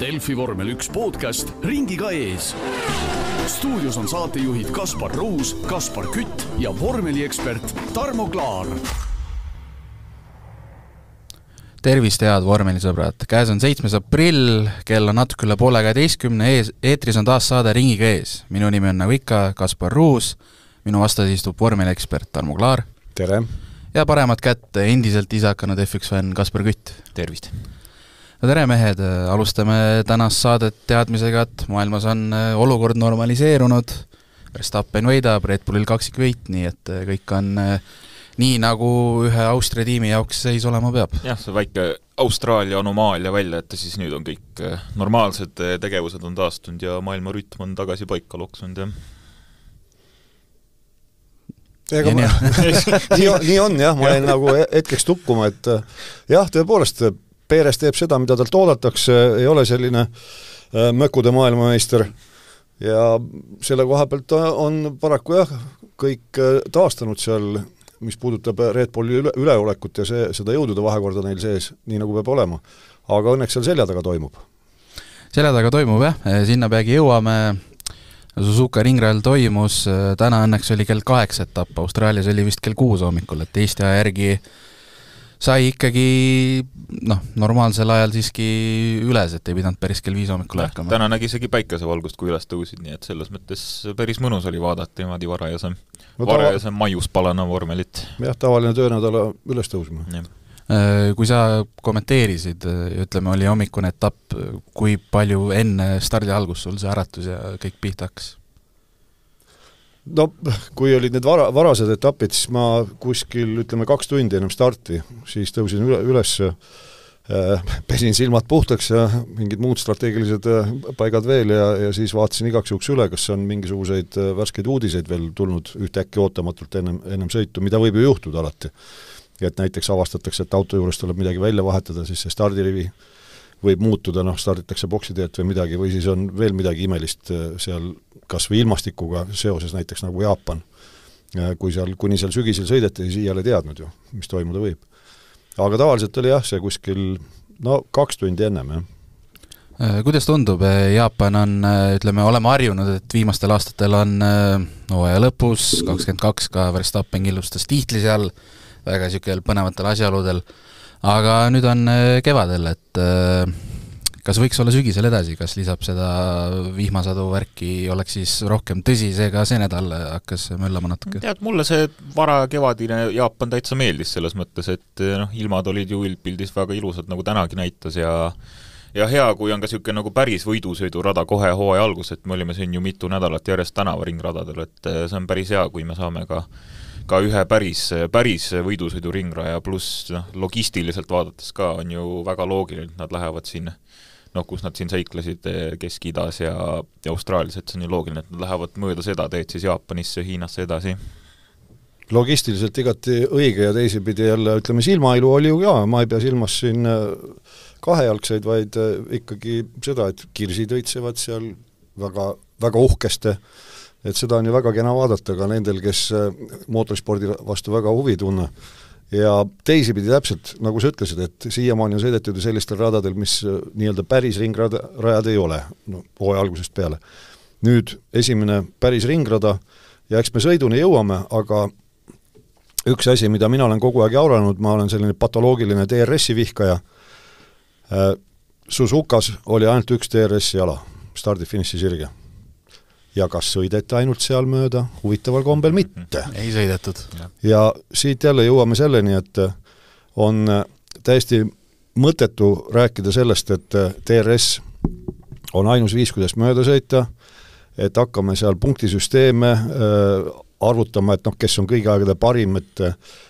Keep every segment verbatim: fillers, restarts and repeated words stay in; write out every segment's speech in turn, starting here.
Delfi vormel üks podcast ringiga ees. Stuudios on saatejuhid Kaspar Ruus, Kaspar Kütt ja vormeliekspert Tarmo Klaar. Tervist, head vormelisõbrad! Käes on seitsmes aprill, kell on natuke üle poole kaheteistkümne, ees, eetris on taas saade ringiga ees. Minu nimi on nagu ikka Kaspar Ruus, minu vastas istub vormeliekspert Tarmo Klaar. Tere! Ja paremat kätt endiselt ise hakanud F üks fänn Kaspar Kütt. Tervist! No tere mehed, alustame tänast saadet teadmisega, et maailmas on olukord normaliseerunud, Verstappen võidab, Red Bullil kaksikvõit, nii et kõik on nii nagu ühe Austria tiimi jaoks seis olema peab. Jah, see väike Austraalia anomaalia välja, et siis nüüd on kõik normaalsed tegevused on taastunud ja maailma rütm on tagasi paika loksunud. Ja ma, nii, nii on jah, ma jäin nagu hetkeks tukkuma, et jah, tõepoolest Peeres teeb seda, mida talt oodatakse, ei ole selline mökude maailmameister ja selle koha pealt on paraku jah, kõik taastanud seal, mis puudutab Red Bulli üle, üleolekut ja see, seda jõudude vahekorda neil sees, nii nagu peab olema. Aga õnneks seal selja taga toimub. Selja taga toimub jah, sinna peagi jõuame. Suzuka ringrajal toimus, täna õnneks oli kell kaheksa etapp, Austraalias oli vist kell kuus hommikul, et Eesti aja järgi sai ikkagi noh, normaalsel ajal siiski üles, et ei pidanud päris kell viis hommikul ärkama. Täna nägi isegi päikesevalgust, kui üles tõusid, nii et selles mõttes päris mõnus oli vaadata niimoodi varajase, no, varajase tava... maius palana vormelit. Jah, tavaline töönädala üles tõusma. Kui sa kommenteerisid, ütleme, oli hommikune etapp, kui palju enne stardi algus sul see äratus ja kõik pihta hakkas? No, kui olid need vara, varased etapid, siis ma kuskil, ütleme, kaks tundi ennem starti, siis tõusin üle, üles, pesin silmad puhtaks ja mingid muud strateegilised paigad veel ja, ja siis vaatasin igaks juhuks üle, kas on mingisuguseid värskeid uudiseid veel tulnud ühtäkki ootamatult ennem, ennem sõitu, mida võib ju juhtuda alati. Et näiteks avastatakse, et auto juures tuleb midagi välja vahetada, siis see stardirivi võib muutuda, noh, starditakse boksiteelt või midagi, või siis on veel midagi imelist seal kas või ilmastikuga seoses näiteks nagu Jaapan. Kui seal, kuni seal sügisel sõideti, siis iiale teadnud ju, mis toimuda võib. Aga tavaliselt oli jah, see kuskil no, kaks tundi ennem, jah. Kuidas tundub, Jaapan on, ütleme, oleme harjunud, et viimastel aastatel on hooaja lõpus, kakskümmend kaks ka Verstappen killustas tiitli seal, väga niisugusel põnevatel asjaoludel, aga nüüd on kevadel, et kas võiks olla sügisel edasi, kas lisab seda vihmasadu värki, oleks siis rohkem tõsi, seega see nädal hakkas möllama natuke? Tead, mulle see vara kevadine Jaapan täitsa meeldis selles mõttes, et noh, ilmad olid ju üldpildis väga ilusad, nagu tänagi näitas ja ja hea, kui on ka niisugune nagu päris võidusõidurada kohe hooaja algus, et me olime siin ju mitu nädalat järjest tänavaringradadel, et see on päris hea, kui me saame ka ka ühe päris, päris võidusõidu ringraja, pluss noh, logistiliselt vaadates ka on ju väga loogiline, et nad lähevad siin, noh, kus nad siin seiklesid Kesk-Idas ja, ja Austraalias, et see on ju loogiline, et nad lähevad mööda seda teed siis Jaapanisse, Hiinasse edasi. Logistiliselt igati õige ja teisipidi jälle, ütleme, silmailu oli ju ka, ma ei pea silmas siin kahejalgseid, vaid ikkagi seda, et kirsid õitsevad seal väga, väga uhkeste, et seda on ju väga kena vaadata ka nendel, kes mootorispordi vastu väga huvi tunne. Ja teisipidi täpselt, nagu sa ütlesid, et siiamaani on sõidetud sellistel radadel, mis nii-öelda päris ringrajad ei ole, no, hooaja algusest peale. Nüüd esimene päris ringrada ja eks me sõiduni jõuame, aga üks asi, mida mina olen kogu aeg jauranud, ma olen selline patoloogiline D R S-i vihkaja. Suzukas oli ainult üks D R S-i jala, stardi-finissi sirge. Ja kas sõideti ainult seal mööda? Huvitaval kombel mitte. Ei sõidetud. Ja siit jälle jõuame selleni, et on täiesti mõttetu rääkida sellest, et D R S on ainus viis, kuidas mööda sõita, et hakkame seal punktisüsteeme arvutama, et noh, kes on kõigi aegade parim, et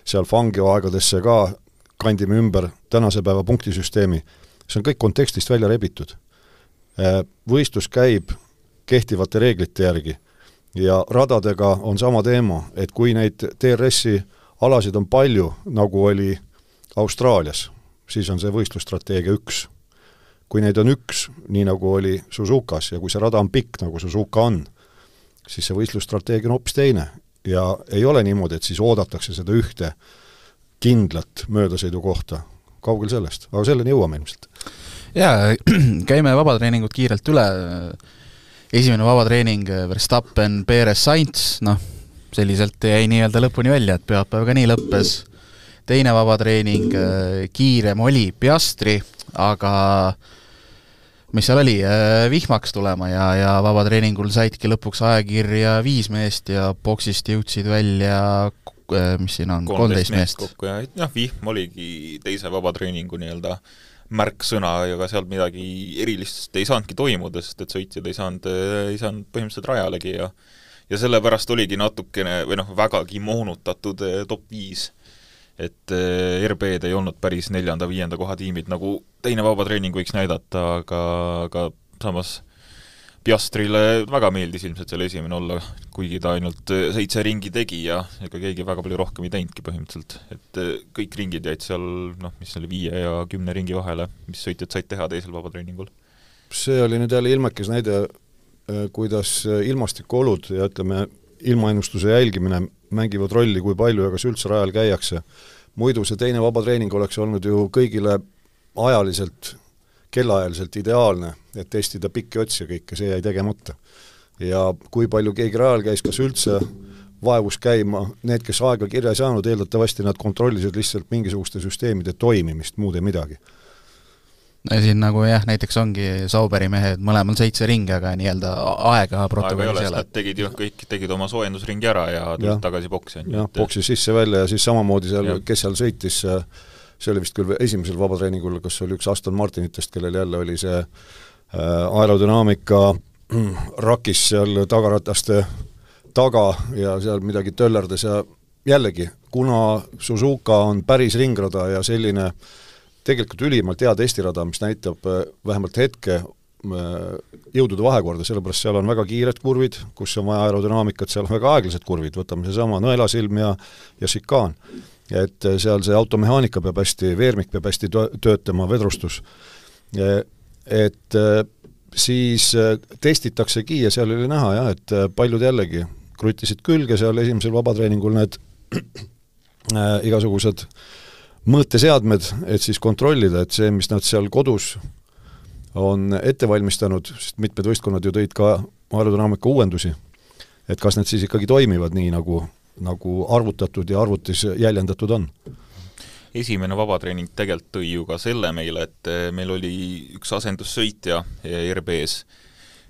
seal Fangio aegadesse ka kandime ümber tänase päeva punktisüsteemi. See on kõik kontekstist välja rebitud. Võistlus käib kehtivate reeglite järgi ja radadega on sama teema, et kui neid D R S-i alasid on palju, nagu oli Austraalias, siis on see võistlusstrateegia üks. Kui neid on üks, nii nagu oli Suzukas ja kui see rada on pikk, nagu Suzuka on, siis see võistlusstrateegia on hoopis teine ja ei ole niimoodi, et siis oodatakse seda ühte kindlat möödasõidu kohta. Kaugel sellest, aga selleni jõuame ilmselt. jaa, käime vabatreeningut kiirelt üle. Esimene vabatreening Verstappen, Perez, Sainz, noh, selliselt jäi nii-öelda lõpuni välja, et pühapäev ka nii lõppes. Teine vabatreening kiirem oli Piastri, aga mis seal oli, vihmaks tulema ja, ja vabatreeningul saidki lõpuks ajakirja viis meest ja boksist jõudsid välja, mis siin on, kolmteist meest. Kokku ja noh, vihm oligi teise vabatreeningu nii-öelda märksõna ja ka sealt midagi erilist ei saanudki toimuda, sest et sõitjad ei saanud, ei saanud põhimõtteliselt rajalegi ja ja sellepärast oligi natukene või noh, vägagi moonutatud top viis. Et R B-d ei olnud päris neljanda, viienda koha tiimid, nagu teine vabatreening võiks näidata, aga, aga samas Piastrile väga meeldis ilmselt seal esimene olla, kuigi ta ainult seitse ringi tegi ja ega keegi väga palju rohkem ei teinudki põhimõtteliselt. Et kõik ringid jäid seal, noh, mis oli viie ja kümne ringi vahele, mis sõitjad said teha teisel vabatreeningul. See oli nüüd jälle ilmekes näide, kuidas ilmastikuolud ja ütleme, ilmaennustuse jälgimine mängivad rolli, kui palju ja kas üldse rajal käiakse. Muidu see teine vabatreening oleks olnud ju kõigile ajaliselt, kellaajaliselt ideaalne, et testida pikki otsi kõike, see jäi tegemata. Ja kui palju keegi rajal käis, kas üldse vaevus käima, need, kes aega kirja ei saanud, eeldatavasti nad kontrollisid lihtsalt mingisuguste süsteemide toimimist, muud ei midagi. No siin nagu jah, näiteks ongi Sauberi mehed mõlemal seitse ringi, aga nii-öelda aega protokollis ei ole. Nad tegid ju kõik, tegid oma soojendusringi ära ja tulid tagasi boksi. Jah, boksi sisse välja ja siis samamoodi seal, ja. Kes seal sõitis, see oli vist küll esimesel vabatreeningul, kas oli üks Aston Martinitest, kellel jälle oli see aerodünaamika rakis seal tagarataste taga ja seal midagi töllerdas ja jällegi, kuna Suzuka on päris ringrada ja selline tegelikult ülimalt hea testirada, mis näitab vähemalt hetke jõudude vahekorda, sellepärast seal on väga kiired kurvid, kus on vaja aerodünaamikat, seal on väga aeglased kurvid, võtame see sama nõelasilm ja, ja šikaan. Et seal see automehaanika peab hästi, veermik peab hästi töötama, vedrustus. Et siis testitaksegi ja seal oli näha, jah, et paljud jällegi krutisid külge seal esimesel vabatreeningul need igasugused mõõteseadmed, et siis kontrollida, et see, mis nad seal kodus on ette valmistanud, sest mitmed võistkonnad ju tõid ka aerodünaamika uuendusi, et kas need siis ikkagi toimivad nii, nagu, nagu arvutatud ja arvutis jäljendatud on. Esimene vabatreening tegelikult tõi ju ka selle meile, et meil oli üks asendussõitja R B-s,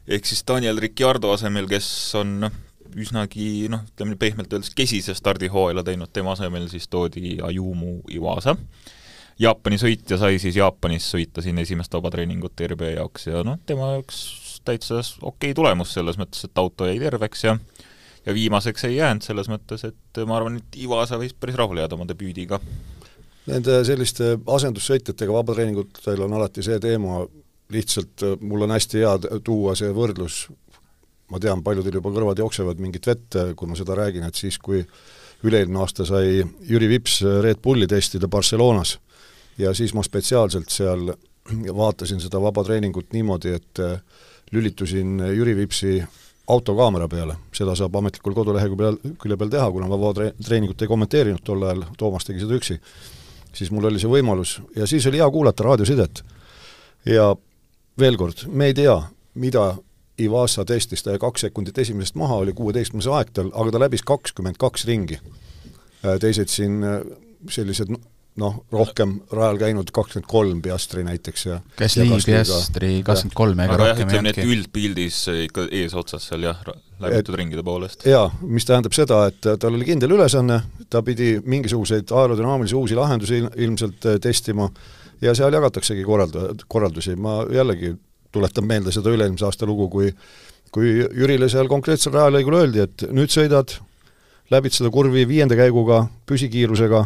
ehk siis Daniel Ricciardo asemel, kes on üsnagi, noh, ütleme pehmelt öeldes kesise stardihooajale teinud, tema asemel siis toodi Ayumu Iwasa. Jaapani sõitja sai siis Jaapanis sõita siin esimest vabatreeningut R B jaoks ja noh, tema üks täitsa okei tulemus selles mõttes, et auto jäi terveks ja, ja viimaseks ei jäänud selles mõttes, et ma arvan, et Iwasa võis päris rahule jääda oma debüüdiga. Nende selliste asendussõitjatega vabatreeningutel on alati see teema, lihtsalt mul on hästi hea tuua see võrdlus. Ma tean, paljudel juba kõrvad jooksevad mingit vett, kui ma seda räägin, et siis, kui üle-eelmine aasta sai Jüri Vips Red Bulli testida Barcelonas ja siis ma spetsiaalselt seal vaatasin seda vabatreeningut niimoodi, et lülitusin Jüri Vipsi autokaamera peale. Seda saab ametlikul kodulehegu peal, külje peal teha, kuna ma vabatreeningut ei kommenteerinud tol ajal, Toomas tegi seda üksi. Siis mul oli see võimalus ja siis oli hea kuulata raadiosidet. Ja veel kord, me ei tea, mida Iwasa testis, ta kaks sekundit esimesest maha, oli kuueteistkümnes aeg tal, aga ta läbis kakskümmend kaks ringi. Teised siin sellised, noh, rohkem rajal käinud kakskümmend kolm Piastri näiteks. Ja, Käsli, Piastri kakskümmend kolm ega aga rohkem jah, ütleme, et üldpildis ikka ees otsas seal jah, läbitud ringide poolest. Jaa, mis tähendab seda, et tal oli kindel ülesanne, ta pidi mingisuguseid aerodünaamilisi uusi lahendusi ilmselt testima ja seal jagataksegi korrald- korraldusi. Ma jällegi tuletan meelde seda üle-eelmise aasta lugu, kui, kui Jürile seal konkreetsel rajalõigul öeldi, et nüüd sõidad, läbid seda kurvi viienda käiguga, püsikiirusega,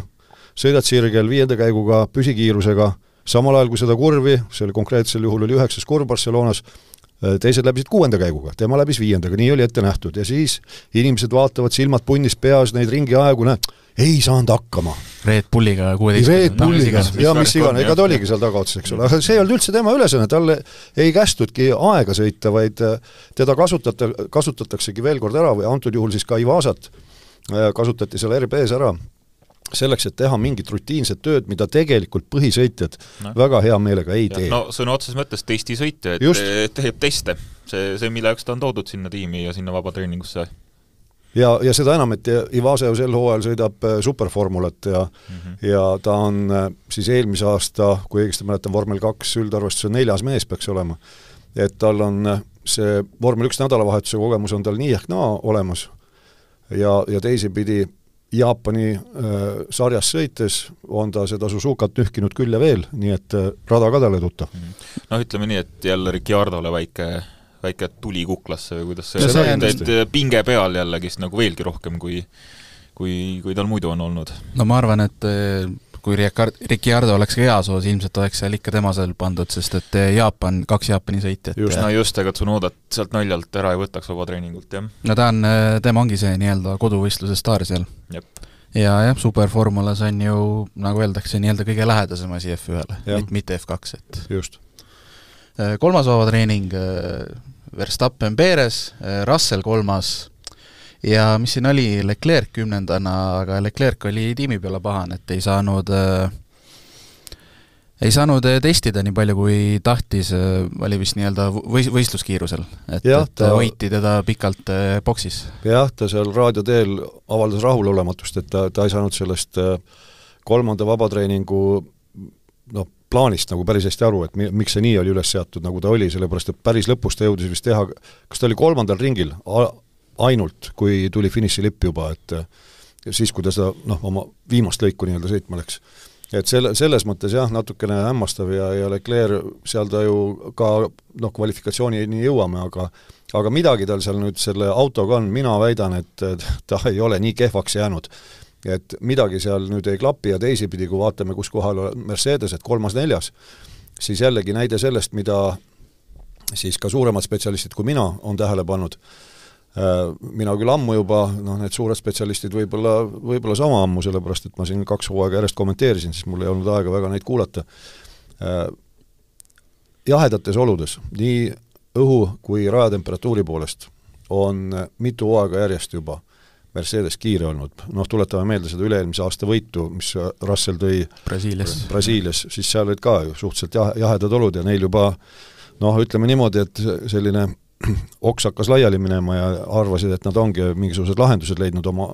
sõidad sirgel viienda käiguga, püsikiirusega, samal ajal kui seda kurvi, see oli konkreetsel juhul oli üheksas kurv Barcelonas, teised läbisid kuuenda käiguga, tema läbis viiendaga, nii oli ette nähtud ja siis inimesed vaatavad silmad punnis peas neid ringi aegu, näed, ei saanud hakkama. Red Bulliga kuueteistkümne. Red Bulliga, ja mis igane, ega ta oligi seal tagaotsas, eks ole, aga see ei olnud üldse tema ülesanne, talle ei kästudki aega sõita, vaid teda kasutata, kasutataksegi veel kord ära või antud juhul siis ka Iwasat kasutati seal R B-s ära selleks, et teha mingit rutiinset tööd, mida tegelikult põhisõitjad no. väga hea meelega ei ja, tee. No sõna otses mõttes testisõitja, et Just. teeb teste. See, see, mille jaoks ta on toodud sinna tiimi ja sinna vabatreeningusse. Ja, ja seda enam, et Ivasev sel hooajal sõidab superformulat ja, mm-hmm. ja ta on siis eelmise aasta, kui õigesti mäletan, vormel kaks üldarvestuse neljas mees peaks olema. Et tal on see vormel üks nädalavahetuse kogemus on tal nii ehk naa olemas ja, ja teisi pidi Jaapani äh, sarjas sõites on ta seda Suzukat nühkinud küll ja veel, nii et äh, rada ka talle tuttav. No ütleme nii, et jälle Ricciardole väike, väike tuli kuklasse või kuidas see, see on, et pinge peal jällegist nagu veelgi rohkem, kui, kui, kui tal muidu on olnud. No ma arvan, et kui Ricciardo oleks ka heas oos, ilmselt oleks seal ikka tema seal pandud, sest et Jaapan, kaks Jaapani sõitjat. Just, no just, ega Tsunodat sealt naljalt ära ei võtaks vaba treeningult, jah. No ta on, tema ongi see nii-öelda koduvõistluse staar seal. Jep. Ja jah, superformulas on ju, nagu öeldakse, nii-öelda kõige lähedasem asi F ühele, mitte, mitte F kaks. Et. Just. Kolmas vaba treening, Verstappen Perez, Russell kolmas, ja mis siin oli, Leclerc kümnendana, aga Leclerc oli tiimi peale pahan, et ei saanud äh, ei saanud testida nii palju, kui tahtis, äh, oli vist nii-öelda võis, võistluskiirusel, et, ja, et ta, hoiti teda pikalt äh, boksis. Jah, ta seal raadioteel avaldas rahulolematust, et ta, ta ei saanud sellest äh, kolmanda vabatreeningu noh, plaanist nagu päris hästi aru, et mi, miks see nii oli üles seatud, nagu ta oli, sellepärast, et päris lõpus ta jõudis vist teha, kas ta oli kolmandal ringil, ainult, kui tuli finišilipp juba, et siis, kui ta seda, noh, oma viimast lõiku nii-öelda sõitma läks. Et selle, selles mõttes jah, natukene hämmastav ja, ja Leclerc seal ta ju ka, noh, kvalifikatsiooni jõuame, aga aga midagi tal seal nüüd selle autoga on, mina väidan, et ta ei ole nii kehvaks jäänud. Et midagi seal nüüd ei klapi ja teisipidi, kui vaatame, kus kohal on Mercedes, et kolmas-neljas, siis jällegi näide sellest, mida siis ka suuremad spetsialistid kui mina on tähele pannud. Mina küll ammu juba, noh, need suured spetsialistid võib-olla, võib-olla sama ammu, sellepärast, et ma siin kaks hooaega järjest kommenteerisin, siis mul ei olnud aega väga neid kuulata. Jahedates oludes, nii õhu kui rajatemperatuuri poolest, on mitu hooaega järjest juba Mercedes kiire olnud. Noh, tuletame meelde seda üle-eelmise aasta võitu, mis Russell tõi Brasiilias, Brasiilias siis seal olid ka suhteliselt jahedad olud ja neil juba, noh, ütleme niimoodi, et selline oks hakkas laiali minema ja arvasid, et nad ongi mingisugused lahendused leidnud oma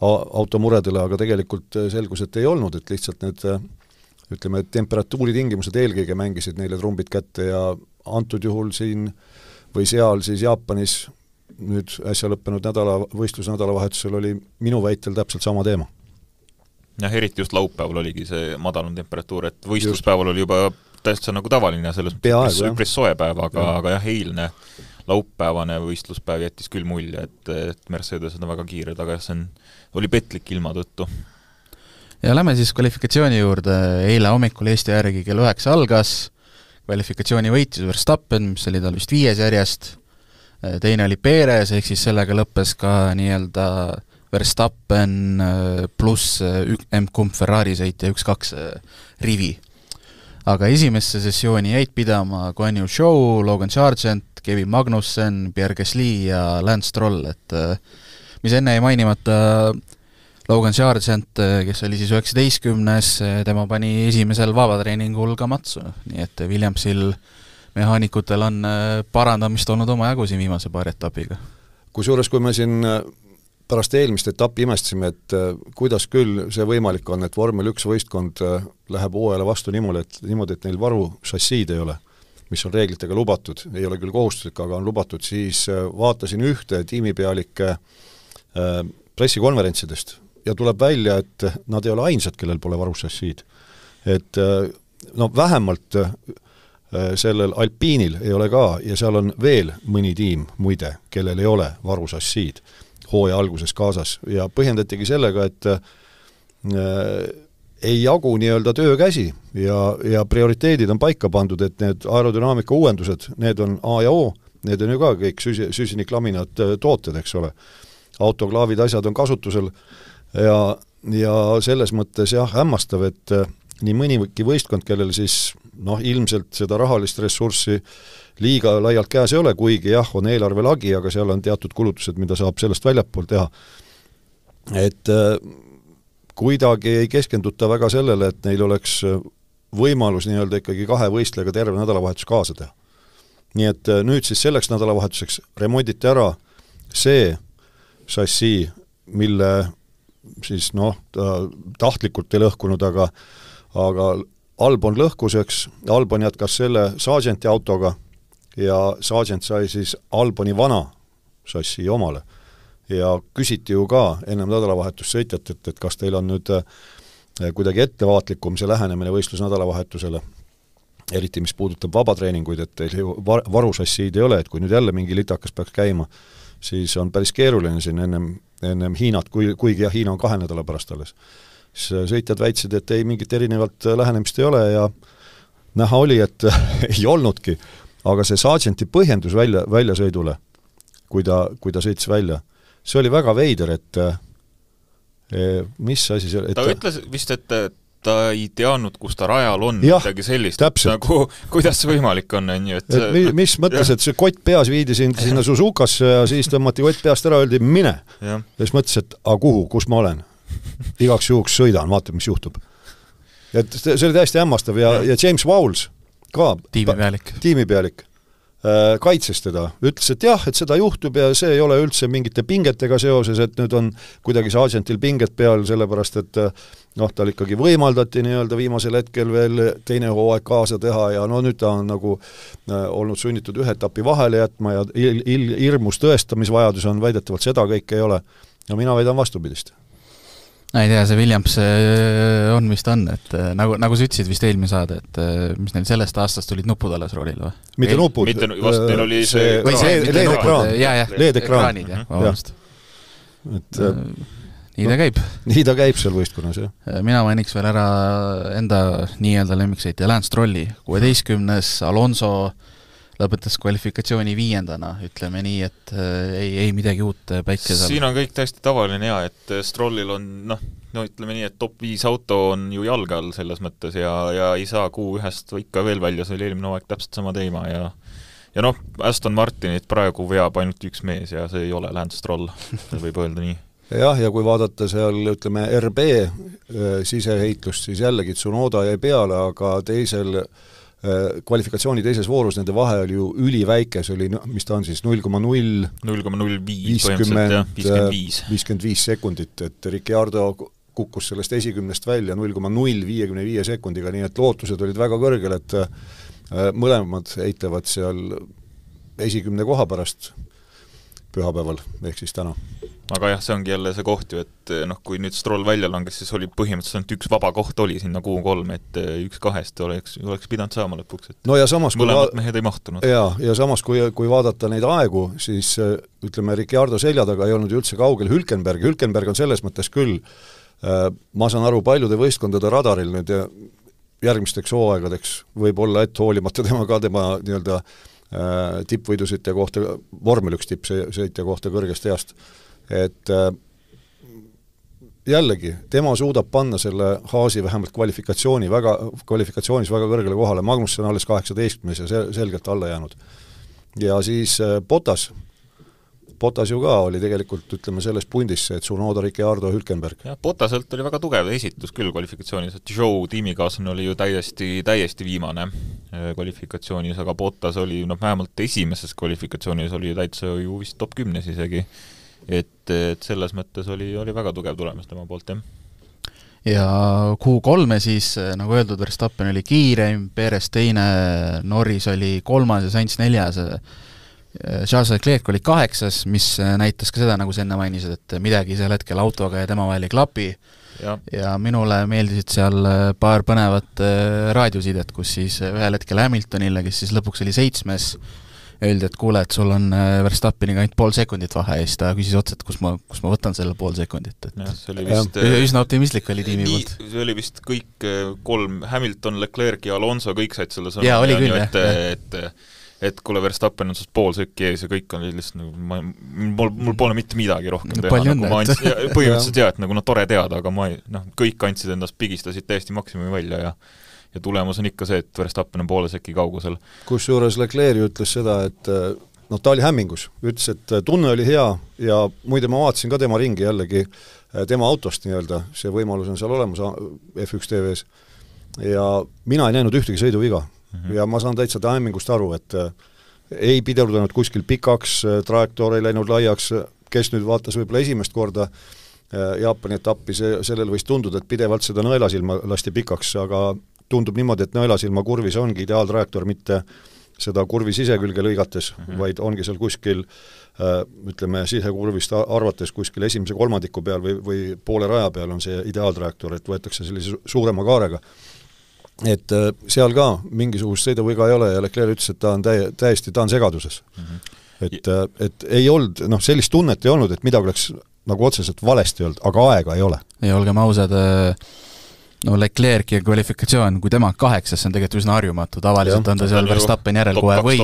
automuredele, aga tegelikult selgus, et ei olnud, et lihtsalt need, ütleme, temperatuuri tingimused eelkõige mängisid neile trumbid kätte ja antud juhul siin või seal siis Jaapanis nüüd äsja lõppenud nädala, võistlusnädalavahetusel oli minu väitel täpselt sama teema. Jah, eriti just laupäeval oligi see madalum temperatuur, et võistluspäeval oli juba täiesti nagu tavaline, selles mõttes üpris soe päev, aga, ja. aga jah, eilne laupäevane võistluspäev jättis küll mulje, et, et Mercedes on väga kiired, aga see on, oli petlik ilma tõttu. Ja lähme siis kvalifikatsiooni juurde, eile hommikul Eesti järgi kell üheksa algas, kvalifikatsiooni võitis Verstappen, mis oli tal vist viies järjest, teine oli Perez, ehk siis sellega lõppes ka nii-öelda Verstappen pluss M-kumb Ferrari sõitja üks kaks rivi. Aga esimesse sessiooni jäid pidama Guan Yu Zhou, Logan Sargent, Kevin Magnussen, Pierre Gasly ja Lance Stroll, et mis enne ei mainimata Logan Sargent, kes oli siis üheksateistkümnes, tema pani esimesel vabatreeningul ka matsu, nii et Williamsil mehaanikutel on parandamist olnud oma jagu siin viimase paari etapiga. Kusjuures, kui me siin pärast eelmist etappi imestasime, et kuidas küll see võimalik on, et vormel üks võistkond läheb hooajale vastu niimoodi, et, niimoodi, et neil varu šassiid ei ole, mis on reeglitega lubatud, ei ole küll kohustuslik, aga on lubatud, siis vaatasin ühte tiimipealike pressikonverentsidest ja tuleb välja, et nad ei ole ainsad, kellel pole varu šassiid. Et no vähemalt sellel Alpiinil ei ole ka ja seal on veel mõni tiim muide, kellel ei ole varu šassiid hooaja alguses kaasas ja põhjendatigi sellega, et äh, ei jagu nii-öelda töökäsi ja, ja prioriteedid on paika pandud, et need aerodünaamika uuendused, need on A ja O, need on ju ka kõik süsi, süsiniklaminad tooted, eks ole. Autoklaavid, asjad on kasutusel ja, ja selles mõttes jah, hämmastav, et äh, nii mõnigi võistkond, kellel siis noh, ilmselt seda rahalist ressurssi liiga laialt käes ei ole, kuigi jah, on eelarve lagi, aga seal on teatud kulutused, mida saab sellest väljapool teha. Et kuidagi ei keskenduta väga sellele, et neil oleks võimalus nii-öelda ikkagi kahe võistlega terve nädalavahetus kaasa teha. Nii et nüüd siis selleks nädalavahetuseks remonditi ära see šassii, mille siis noh, tahtlikult ei lõhkunud, aga, aga Albon lõhkuseks, Albon jätkas selle Sargenti autoga ja Sargent sai siis Alboni vana šassii omale. Ja küsiti ju ka ennem nädalavahetus sõitjat, et, et kas teil on nüüd kuidagi ettevaatlikum see lähenemine võistlus nädalavahetusele, eriti mis puudutab vabatreeninguid, et teil ju varušassiid ei ole, et kui nüüd jälle mingi litakas peaks käima, siis on päris keeruline siin ennem, ennem Hiinat, kui, kuigi jah, Hiina on kahe nädala pärast alles. Sõitjad väitsid, et ei, mingit erinevat lähenemist ei ole ja näha oli, et ei olnudki, aga see Sargenti põhjendus välja, väljasõidule, kui ta, kui ta sõitis välja, see oli väga veider, et mis asi see... ta et... ütles vist, et ta ei teadnud, kus ta rajal on, jah, midagi sellist, nagu, kuidas see võimalik on, on ju, et, et mis, mis mõttes, et see kott peas viidi sind sinna Suzukasse ja siis tõmmati kott peast ära, öeldi mine. Ja, ja siis mõtles, et a kuhu, kus ma olen? Igaks juhuks sõidan, vaatab, mis juhtub. Et see oli täiesti hämmastav ja, ja. ja James Vowles ka, tiimipealik, tiimipealik äh, kaitses teda, ütles, et jah, et seda juhtub ja see ei ole üldse mingite pingetega seoses, et nüüd on kuidagi Sargentil pinget peal, sellepärast et noh, tal ikkagi võimaldati nii-öelda viimasel hetkel veel teine hooaeg kaasa teha ja no nüüd ta on nagu äh, olnud sunnitud ühe etapi vahele jätma ja il, il, hirmus tõestamisvajadus on, väidetavalt seda kõik ei ole. Ja mina väidan vastupidist. ei tea, see Williams on vist on, et nagu, nagu sa ütlesid vist eelmine saade, et mis neil sellest aastast tulid nupud alles roolil või? Mitte nupud, mitte, vast neil oli see, see, see leedekraan, leedekraanid, jah, vabandust. Et nii ta käib. Nii ta käib seal võistkonnas, jah. Mina mainiks veel ära enda nii-öelda lemmiksõitja Lance Strolli, kuueteistkümnes Alonso lõpetas kvalifikatsiooni viiendana, ütleme nii, et ei, ei midagi uut päikse seal. Siin on kõik täiesti tavaline ja, et Strollil on, noh, no ütleme nii, et top viis auto on ju jalge all selles mõttes ja, ja ei saa kuu ühest ikka veel välja, see oli eelmine hooaeg täpselt sama teema ja ja noh, Aston Martinit praegu veab ainult üks mees ja see ei ole Lance Stroll, võib öelda nii. Jah, ja kui vaadata seal, ütleme, R B siseheitlust, siis jällegi Tsunoda jäi peale, aga teisel kvalifikatsiooni teises voorus nende vahe oli ju üliväike, see oli, mis ta on siis, null koma null viiskümmend viis sekundit, et Ricciardo kukkus sellest esikümnest välja null koma null viiekümne viie sekundiga, nii et lootused olid väga kõrgel, et mõlemad eitlevad seal esikümne koha pärast pühapäeval, ehk siis täna. Aga jah, see ongi jälle see koht ju, et noh, kui nüüd Stroll välja langes, siis oli põhimõtteliselt üks vaba koht oli sinna kuu kolm, et üks kahest oleks, oleks pidanud saama lõpuks, et no ja samas, mõlemad mehed ei mahtunud. Ja, ja samas, kui, kui vaadata neid aegu, siis ütleme, Ricciardo selja taga ei olnud üldse kaugel Hülkenberg. Hülkenberg on selles mõttes küll, ma saan aru, paljude võistkondade radaril nüüd ja järgmisteks hooaegadeks võib olla, et hoolimata tema ka tema nii-öelda tippvõidusõitja kohta, vormel üks tippsõitja kohta kõrgest east, et jällegi, tema suudab panna selle Haasi vähemalt kvalifikatsiooni väga, kvalifikatsioonis väga kõrgele kohale, Magnussen alles kaheksateistkümnes ja selgelt alla jäänud. Ja siis Bottas, Bottas ju ka oli tegelikult, ütleme, selles pundis, et Tsunoda, Ricciardo, Hülkenberg. Ja, Bottaselt oli väga tugev esitus küll kvalifikatsioonis, et Joe tiimikaaslane oli ju täiesti, täiesti viimane kvalifikatsioonis, aga Bottas oli, noh, vähemalt esimeses kvalifikatsioonis oli täitsa ju vist top kümnes isegi, et, et selles mõttes oli, oli väga tugev tulemus tema poolt, jah. Ja Q kolme siis, nagu öeldud, Verstappen oli kiireim, Perez teine, Norris oli kolmas ja Sainz neljas, Charles Leclerc oli kaheksas, mis näitas ka seda, nagu sa enne mainisid, et midagi seal hetkel autoga ja tema vahel ei klapi ja. ja minule meeldisid seal paar põnevat raadiosidet, kus siis ühel hetkel Hamiltonile, kes siis lõpuks oli seitsmes, öeldi, et kuule, et sul on Verstappeniga ainult pool sekundit vahe ja siis ta küsis otsa, et kus ma, kus ma võtan selle pool sekundit. Et ja, see oli vist, üsna optimistlik oli tiimi nii, poolt. See oli vist kõik kolm, Hamilton, Leclerc ja Alonso, kõik said selle sõna. Jaa, oli küll, et, et, et, et kuule, Verstappen on sest pool sökki ees ja kõik on lihtsalt nagu, ma, mul, mul pole mitte midagi rohkem no, teha. Nagu ma andsin, ja, põhimõtteliselt jah, et nagu no tore teada, aga ma ei, noh, kõik andsid endast, pigistasid täiesti maksimumi välja ja ja tulemus on ikka see, et Verstappen on poole sökki kaugusel. Kusjuures Leclerc ütles seda, et noh, ta oli hämmingus, ütles, et tunne oli hea ja muide ma vaatasin ka tema ringi jällegi, tema autost nii-öelda, see võimalus on seal olemas F üks T V-s ja mina ei näinud ühtegi sõiduviga mm-hmm. ja ma saan täitsa taimingust aru, et ei pidurdanud kuskil pikaks, trajektoor ei läinud laiaks, kes nüüd vaatas võib-olla esimest korda Jaapani etappi, see, sellel võis tunduda, et pidevalt seda nõelasilma lasti pikaks, aga tundub niimoodi, et nõelasilma kurvis ongi ideaaltrajektoor, mitte seda kurvi sisekülge lõigates mm, -hmm. vaid ongi seal kuskil ütleme, sisekurvist arvates kuskil esimese kolmandiku peal või, või poole raja peal on see ideaaltrajektoor, et võetakse sellise suurema kaarega. Et seal ka mingisugust sõiduviga ei ole ja Leclerc ütles, et ta on täie, täiesti, ta on segaduses. Mm-hmm. Et, et ei olnud, noh, sellist tunnet ei olnud, et midagi oleks nagu otseselt valesti olnud, aga aega ei ole. Ja olgem ausad, no Leclerc ja kvalifikatsioon, kui tema kaheksas, see on tegelikult üsna harjumatu, tavaliselt ja, on ta seal Verstappen järel kohe või,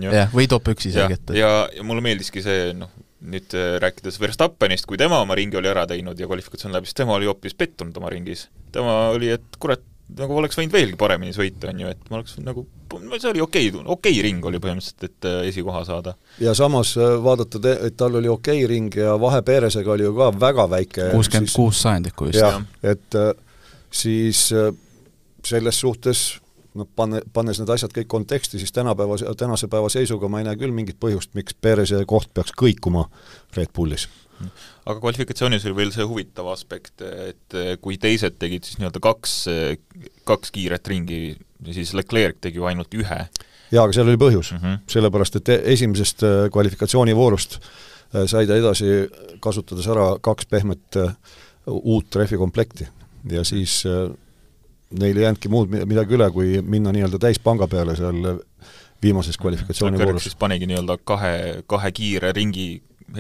ja, või top üks isegi. Ja, ja, ja mulle meeldiski see, noh, nüüd rääkides Verstappenist, kui tema oma ringi oli ära teinud ja kvalifikatsioon läbi, siis tema oli hoopis pettunud oma ringis. Tema oli, et kurat, nagu oleks võinud veelgi paremini sõita, on ju, et ma oleks nagu, see oli okei, okei ring oli põhimõtteliselt, et esikoha saada. Ja samas vaadata, et tal oli okei ring ja vahe Peresega oli ju ka väga väike. kuuskümmend kuus sajandikku just. Ja, et siis selles suhtes, no panne, pannes need asjad kõik konteksti, siis tänapäeva, tänase päeva seisuga ma ei näe küll mingit põhjust, miks Perese koht peaks kõikuma Red Bullis. Aga kvalifikatsioonis oli veel see huvitav aspekt, et kui teised tegid siis nii-öelda kaks, kaks kiiret ringi, siis Leclerc tegi ju ainult ühe. Jaa, aga seal oli põhjus, mm-hmm. sellepärast, et esimesest kvalifikatsioonivoorust sai ta edasi kasutades ära kaks pehmet uut refikomplekti ja siis neil ei jäänudki muud midagi üle, kui minna nii-öelda täispanga peale seal viimases kvalifikatsioonivoorus. Siis panigi nii-öelda kahe, kahe kiire ringi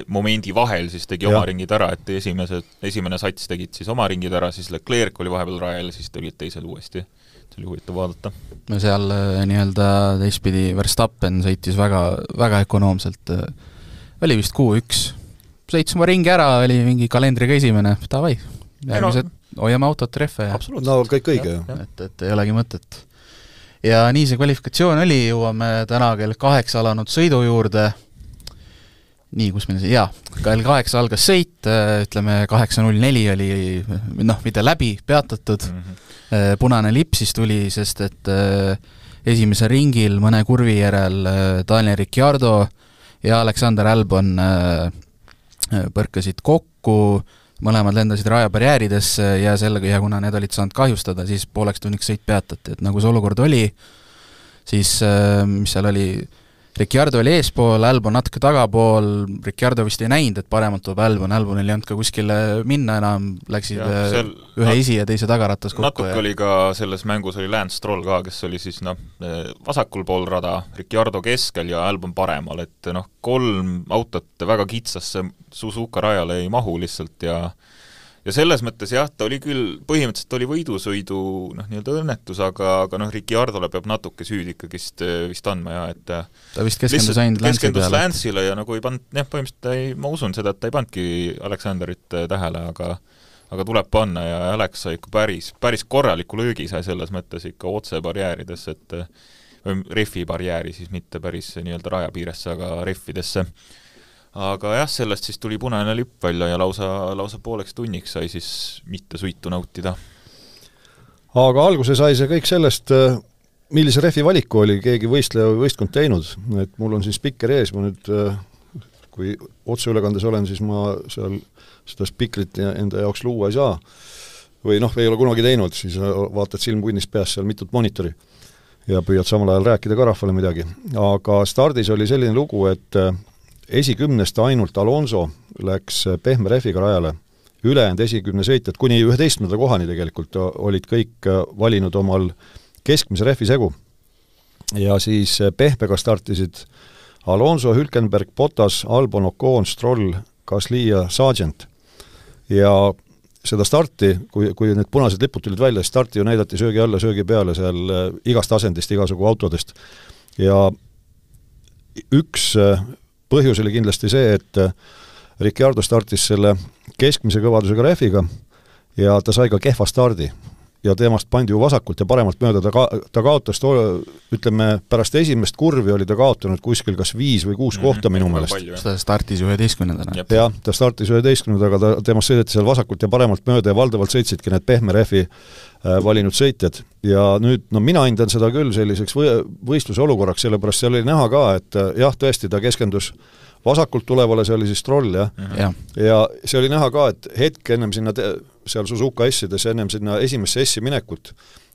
momendi vahel, siis tegi ja. Oma ringid ära, et esimese, esimene sats tegid siis oma ringid ära, siis Leclerc oli vahepeal rajal, siis tulid teised uuesti. See oli huvitav vaadata. No seal nii-öelda teistpidi Verstappen sõitis väga, väga ökonoomselt. Oli vist Q üks. Sõits oma ringi ära, oli mingi kalendriga esimene, davai. Järgmised no, hoiame autot treffe. Ja. No kõik õige. Ja, et, et ei olegi mõtet. Ja nii see kvalifikatsioon oli, jõuame täna kell kaheksa alanud sõidu juurde. Nii, kus meil see, jaa, kell kaheksa algas sõit, ütleme kaheksa null neli oli, noh, mitte läbi, peatatud, mm-hmm. punane lipp siis tuli, sest et esimesel ringil mõne kurvi järel Daniel Ricciardo ja Alexander Albon põrkasid kokku, mõlemad lendasid rajabarjääridesse ja sellega, ja kuna need olid saanud kahjustada, siis pooleks tunniks sõit peatati, et nagu see olukord oli, siis mis seal oli, Ricciardo oli eespool, Albon natuke tagapool, Ricciardo vist ei näinud, et paremalt tuleb Albon, Albonil ei olnud ka kuskile minna enam, läksid ja, seal, ühe nat- esi ja teise tagaratas kokku. Natuke ja... oli ka selles mängus oli Lance Stroll ka, kes oli siis noh, vasakul pool rada, Ricciardo keskel ja Albon paremal, et noh, kolm autot väga kitsasse Suzuka rajale ei mahu lihtsalt ja ja selles mõttes jah, ta oli küll, põhimõtteliselt oli võidusõidu noh, nii-öelda õnnetus, aga, aga noh, Ricciardole peab natuke süüd ikkagist vist andma ja et ta vist keskendus ainult Lance'i peale. Lance'ile ja nagu ei pannud, jah, põhimõtteliselt ei, ma usun seda, et ta ei pandki Alexanderit tähele, aga aga tuleb panna ja Alex sai ikka päris, päris korraliku löögi sai selles mõttes ikka otse barjääridesse, et või refi barjääri siis mitte päris nii-öelda rajapiiresse, aga refidesse. Aga jah, sellest siis tuli punane lipp välja ja lausa, lausa pooleks tunniks sai siis mitte suitu nautida. Aga alguse sai see kõik sellest, millise refi valiku oli keegi võistleja või võistkond teinud. Et mul on siin spikker ees, ma nüüd, kui otseülekandes olen, siis ma seal seda spikrit enda jaoks luua ei saa. Või noh, ei ole kunagi teinud, siis vaatad silmpunnis peas seal mitut monitori ja püüad samal ajal rääkida ka rahvale midagi. Aga stardis oli selline lugu, et esikümnest ainult Alonso läks pehme refiga rajale. Ülejäänud esikümne sõitjad, kuni üheteistkümnenda kohani tegelikult olid kõik valinud omal keskmise refi segu. Ja siis pehmega startisid Alonso, Hülkenberg, Bottas, Albon, Ocon, Stroll, Gasly ja Sargent. Ja seda starti, kui, kui need punased lipud tulid välja, starti ju näidati söögi alla, söögi peale seal igast asendist, igasugu autodest. Ja üks põhjus oli kindlasti see, et Ricciardo startis selle keskmise kõvadusega refiga ja ta sai ka kehva stardi. ja temast pandi ju vasakult ja paremalt mööda, ta, ka, ta kaotas, to, ütleme, pärast esimest kurvi oli ta kaotanud kuskil kas viis või kuus mm -hmm. kohta minu meelest. ta startis üheteistkümnendana. jah, ta startis üheteistkümnendaga, ta temast sõideti seal vasakult ja paremalt mööda ja valdavalt sõitsidki need pehme rehvi äh, valinud sõitjad. Ja nüüd, no mina hindan seda küll selliseks või, võistluse olukorraks, sellepärast seal oli näha ka, et jah, tõesti, ta keskendus vasakult tulevale, see oli siis Stroll, jah mm. -hmm. ja see oli näha ka, et hetk ennem sinna te, seal Suzuka S-ides, ennem sinna esimesse S-i minekut,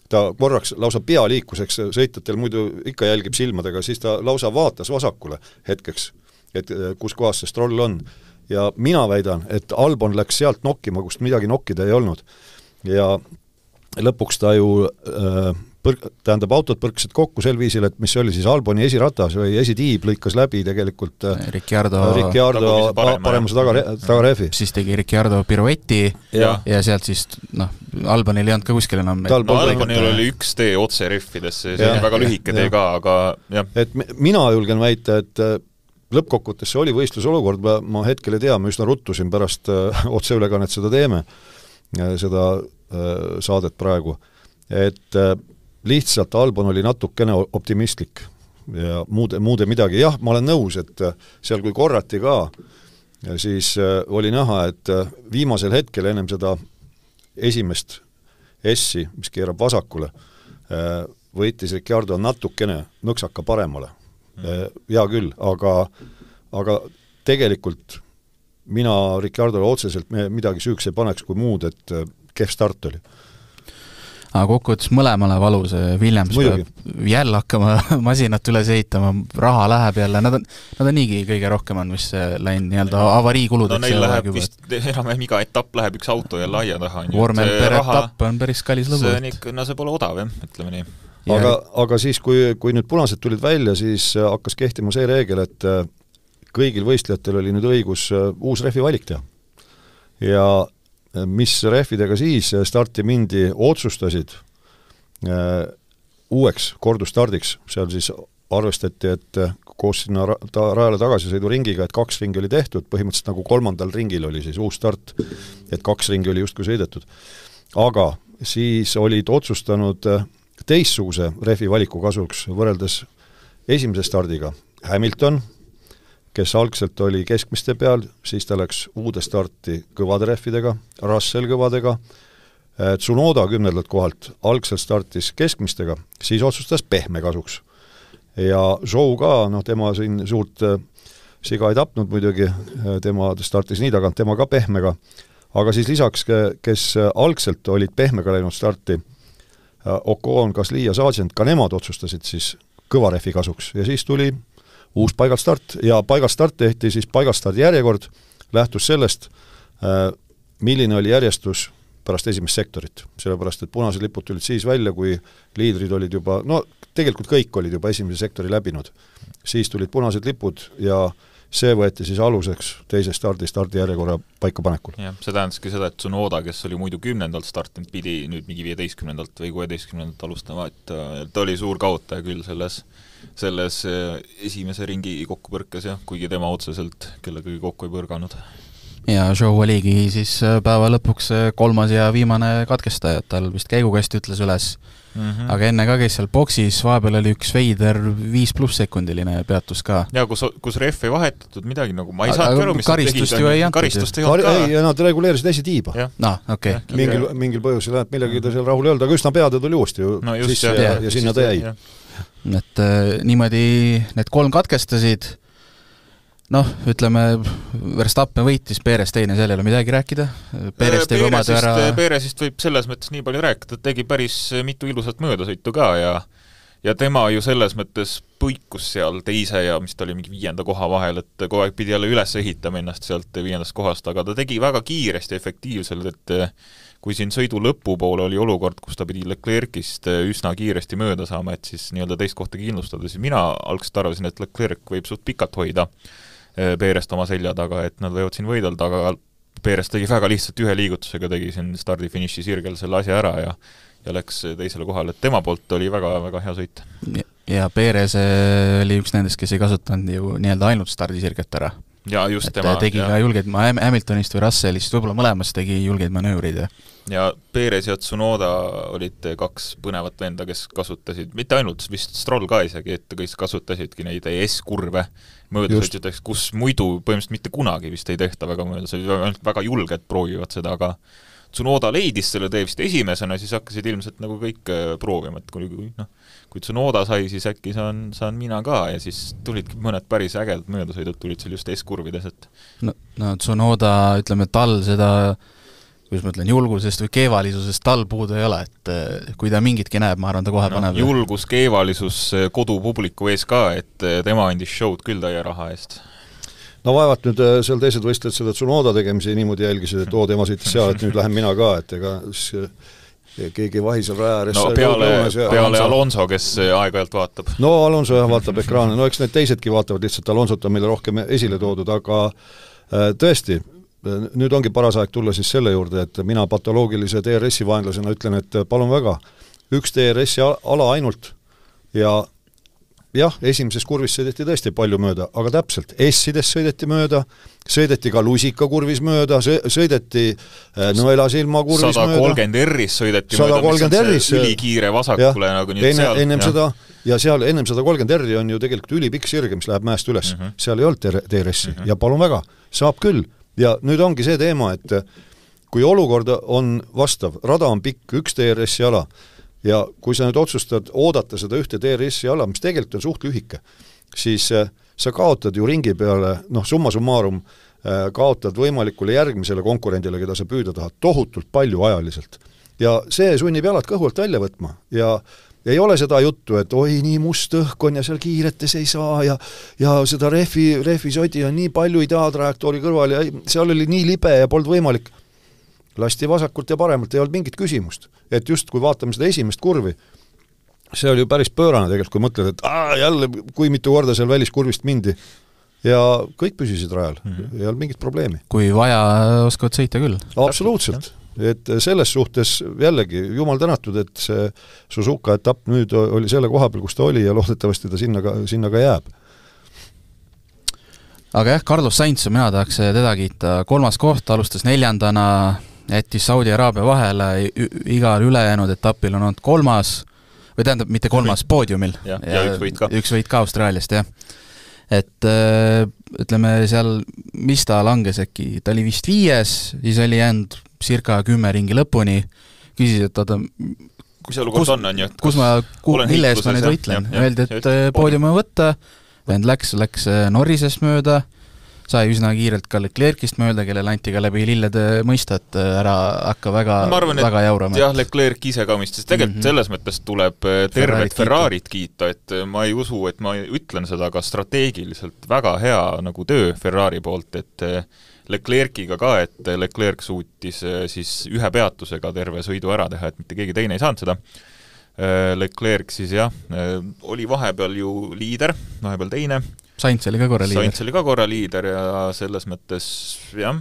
ta korraks lausa pea liikuseks, sõitjatel muidu ikka jälgib silmadega, siis ta lausa vaatas vasakule hetkeks, et kus kohas see Stroll on. Ja mina väidan, et Albon läks sealt nokkima, kust midagi nokkida ei olnud. Ja lõpuks ta ju äh, põr-, tähendab, autod põrksid kokku sel viisil, et mis oli siis Alboni esiratas või esitiib lõikas läbi tegelikult Ricciardo, Ricciardo paremuse taga, tagarehvi. Siis tegi Ricciardo pirueti ja, ja sealt siis, noh, Albonil ei olnud ka kuskil enam. No Albonil oli üks tee otse rehvidesse, see ja, oli väga lühike tee ka, aga jah. Et mina julgen väita, et lõppkokkuvõttes see oli võistlusolukord, ma, ma hetkel ei tea, ma üsna ruttusin pärast äh, otseülekannet seda teeme, seda äh, saadet praegu, et äh, lihtsalt Albon oli natukene optimistlik ja muude, muude midagi. Jah, ma olen nõus, et seal kui korrati ka, siis oli näha, et viimasel hetkel ennem seda esimest S-i, mis keerab vasakule, võitis Ricciardo natukene nõksaka paremale. Hea küll, aga, aga tegelikult mina Ricciardole otseselt midagi süüks ei paneks kui muud, et kehv start oli. Aga kokkuvõttes mõlemale valus, Williams Muidugi. peab jälle hakkama masinat üles ehitama, raha läheb jälle, nad on, nad on niigi kõige rohkem on, mis läinud nii-öelda avariikuludeks. No neil läheb vist, enam iga etapp läheb üks auto jälle aia taha. Vormel per etapp on päris kallis lõbu. See on ikka, no see pole odav, jah, ütleme nii. Aga, aga siis, kui, kui nüüd punased tulid välja, siis hakkas kehtima see reegel, et kõigil võistlejatel oli nüüd õigus uus rehvi valik teha. Ja mis rehvidega siis starti mindi otsustasid äh, uueks kordustardiks, seal siis arvestati, et koos sinna ra ta rajale tagasisõidu ringiga, et kaks ringi oli tehtud, põhimõtteliselt nagu kolmandal ringil oli siis uus start, et kaks ringi oli justkui sõidetud. Aga siis olid otsustanud teistsuguse rehvi valiku kasuks võrreldes esimese stardiga Hamilton, kes algselt oli keskmiste peal, siis ta läks uude starti kõvade rehvidega, Russell kõvadega, Tsunoda kümnendalt kohalt algselt startis keskmistega, siis otsustas pehme kasuks. Ja Zhou ka, noh, tema siin suurt siga ei tapnud muidugi, tema startis nii tagant, tema ka pehmega, aga siis lisaks, kes algselt olid pehmega läinud starti, Ocon, Gasly ja Sargent, ka nemad otsustasid siis kõva rehvi kasuks ja siis tuli uus paigalstart ja paigalstart tehti siis paigalstardi järjekord, lähtus sellest, milline oli järjestus pärast esimest sektorit, sellepärast, et punased lipud tulid siis välja, kui liidrid olid juba, no tegelikult kõik olid juba esimese sektori läbinud. Siis tulid punased lipud ja see võeti siis aluseks teise stardi stardi järjekorra paikapanekul. Jah, see tähendaski seda, et Tsunoda, kes oli muidu kümnendalt startinud, pidi nüüd mingi viieteistkümnendalt või kuueteistkümnendalt alustama, et ta oli suur kaotaja küll selles, selles esimese ringi kokkupõrkes, jah, kuigi tema otseselt kellegagi kokku ei põrganud. Ja Zhou oligi siis päeva lõpuks kolmas ja viimane katkestaja, tal vist käigukast ütles üles, mm -hmm. aga enne ka käis seal boksis, vahepeal oli üks veider viis pluss sekundiline peatus ka. Ja kus, kus ref ei vahetatud midagi, nagu ma ei saanud aru, mis karistust ju ei antud. Karistust ei olnud ka. Ei, ja nad reguleerisid esitiiba. No, okei. Okay. Mingil, mingil põhjusel, et millegi ta seal rahul ei olnud, aga üsna peade tuli uuesti ju no just, sisse ja, ja, ja sinna ta jäi. Et äh, niimoodi need kolm katkestasid, noh, ütleme, Verstappen võitis, Perez teine, seal ei ole midagi rääkida. Perez teeb oma töö ära... Perezist võib selles mõttes nii palju rääkida, et tegi päris mitu ilusat möödasõitu ka ja ja tema ju selles mõttes põikus seal teise ja mis ta oli mingi viienda koha vahel, et kogu aeg pidi jälle üles ehitama ennast sealt viiendast kohast, aga ta tegi väga kiiresti ja efektiivselt, et kui siin sõidu lõpupoole oli olukord, kus ta pidi Leclerc'ist üsna kiiresti mööda saama, et siis nii-öelda teist kohta kindlustada, siis mina algselt arvasin, et Leclerc võib suht pikalt hoida Perest oma selja taga, et nad võivad siin võidelda, aga Perest tegi väga lihtsalt ühe liigutusega, tegi siin stardi-finiši sirgel selle asja ära ja ja läks teisele kohale, et tema poolt oli väga-väga hea sõit. Ja Perez oli üks nendest, kes ei kasutanud ju nii-öelda ainult stardisirget ära. ja just et tema, tegi ja. ka julgeid, ma Hamiltonist või Russellist, võib-olla mõlemas tegi julgeid manöövrid ja ja Perez ja Tsunoda olid kaks põnevat venda, kes kasutasid, mitte ainult, vist Stroll ka isegi, et kõik kasutasidki neid E S-kurve möödasõitjateks, kus muidu põhimõtteliselt mitte kunagi vist ei tehta väga möödasõitjad, väga julged proovivad seda, aga Tsunoda leidis selle tee vist esimesena, siis hakkasid ilmselt nagu kõik proovima, et kui, kui, noh, kui Tsunoda sai, siis äkki saan, saan mina ka ja siis tulidki mõned päris ägedad möödasõidud, tulid seal just S-kurvides, et no, no Tsunoda, ütleme, tal seda, kuidas ma ütlen, julgusest või keevalisusest tal puudu ei ole, et kui ta mingitki näeb, ma arvan, ta kohe no, paneb. Julgus, keevalisus kodupubliku ees ka, et tema andis show'd küll täie raha eest. No vaevat nüüd seal teised võistled seda Tsunoda tegemisi niimoodi jälgisid, et oo, tema sõitis seal, et nüüd lähen mina ka, et ega keegi vahisel rajääres no peale, peale Alonso, kes aeg-ajalt vaatab. No Alonso jah, vaatab ekraane, no eks need teisedki vaatavad lihtsalt Alonsot on meile rohkem esile toodud, aga tõesti, nüüd ongi paras aeg tulla siis selle juurde, et mina patoloogilise T R S-i vaenlasena ütlen, et palun väga, üks T R S-i ala ainult ja jah, esimeses kurvis sõideti tõesti palju mööda, aga täpselt, S-ides sõideti mööda, sõideti ka lusikakurvis mööda, sõideti nõelasilma kurvis mööda. sada kolmkümmend R-is sõideti mööda, mis on see ülikiire vasakule ja, nagu nüüd enne, seal. Ennem ja. Seda, ja seal ennem sada kolmkümmend R-i on ju tegelikult ülipikk sirge, mis läheb mäest üles. Uh -huh. Seal ei olnud T R S-i uh -huh. ja palun väga, saab küll. Ja nüüd ongi see teema, et kui olukord on vastav, rada on pikk, üks T R S-i ala, ja kui sa nüüd otsustad oodata seda ühte T R S-i ala, mis tegelikult on suht lühike, siis äh, sa kaotad ju ringi peale, noh, summa summarum äh, kaotad võimalikule järgmisele konkurendile, keda sa püüda tahad, tohutult palju ajaliselt. Ja see sunnib jalad kõhult välja võtma ja ei ole seda juttu, et oi, nii must õhk on ja seal kiiretes ei saa ja, ja seda rehvi, rehvi sodi on nii palju ideaaltrajektoori kõrval ja seal oli nii libe ja polnud võimalik. Lasti vasakult ja paremalt, ei olnud mingit küsimust. Et just kui vaatame seda esimest kurvi, see oli ju päris pöörane tegelikult, kui mõtled, et aa, jälle kui mitu korda seal väliskurvist mindi ja kõik püsisid rajal, mm -hmm. ei olnud mingit probleemi. Kui vaja, oskavad sõita küll. Absoluutselt. Et selles suhtes jällegi jumal tänatud, et see Suzuka etapp nüüd oli selle koha peal, kus ta oli ja loodetavasti ta sinna ka, sinna ka jääb. Aga jah, Carlos Sainz, mina tahaks teda kiita, kolmas koht, alustas neljandana, jättis Saudi Araabia vahele, igal ülejäänud etapil on olnud kolmas, või tähendab, mitte kolmas, poodiumil. Ja, ja, ja üks võit ka. Üks võit ka Austraaliast, jah. Et ütleme seal, mis ta langes äkki, ta oli vist viies, siis oli jäänud circa kümme ringi lõpuni, küsis, et ta kus, kus, on, on, kus ma, mille eest ma nüüd võitlen. Öeldi, et poodiumi võtta, vend läks, läks Norrisest mööda, sai üsna kiirelt ka Leclerc'ist mööda, kellele anti ka läbi lillede mõista, et ära hakka väga, no, arvan, väga jaurama. Jah, Leclerc ise ka mõistis. Tegelikult mm -hmm. selles mõttes tuleb tervet Ferrarit kiita, et ma ei usu, et ma ütlen seda, aga strateegiliselt väga hea nagu töö Ferrari poolt, et Leclerc'iga ka, et Leclerc suutis siis ühe peatusega terve sõidu ära teha, et mitte keegi teine ei saanud seda. Leclerc siis jah, oli vahepeal ju liider, vahepeal teine. Sainz oli ka korra liider. Sainz oli ka korra liider ja selles mõttes jah,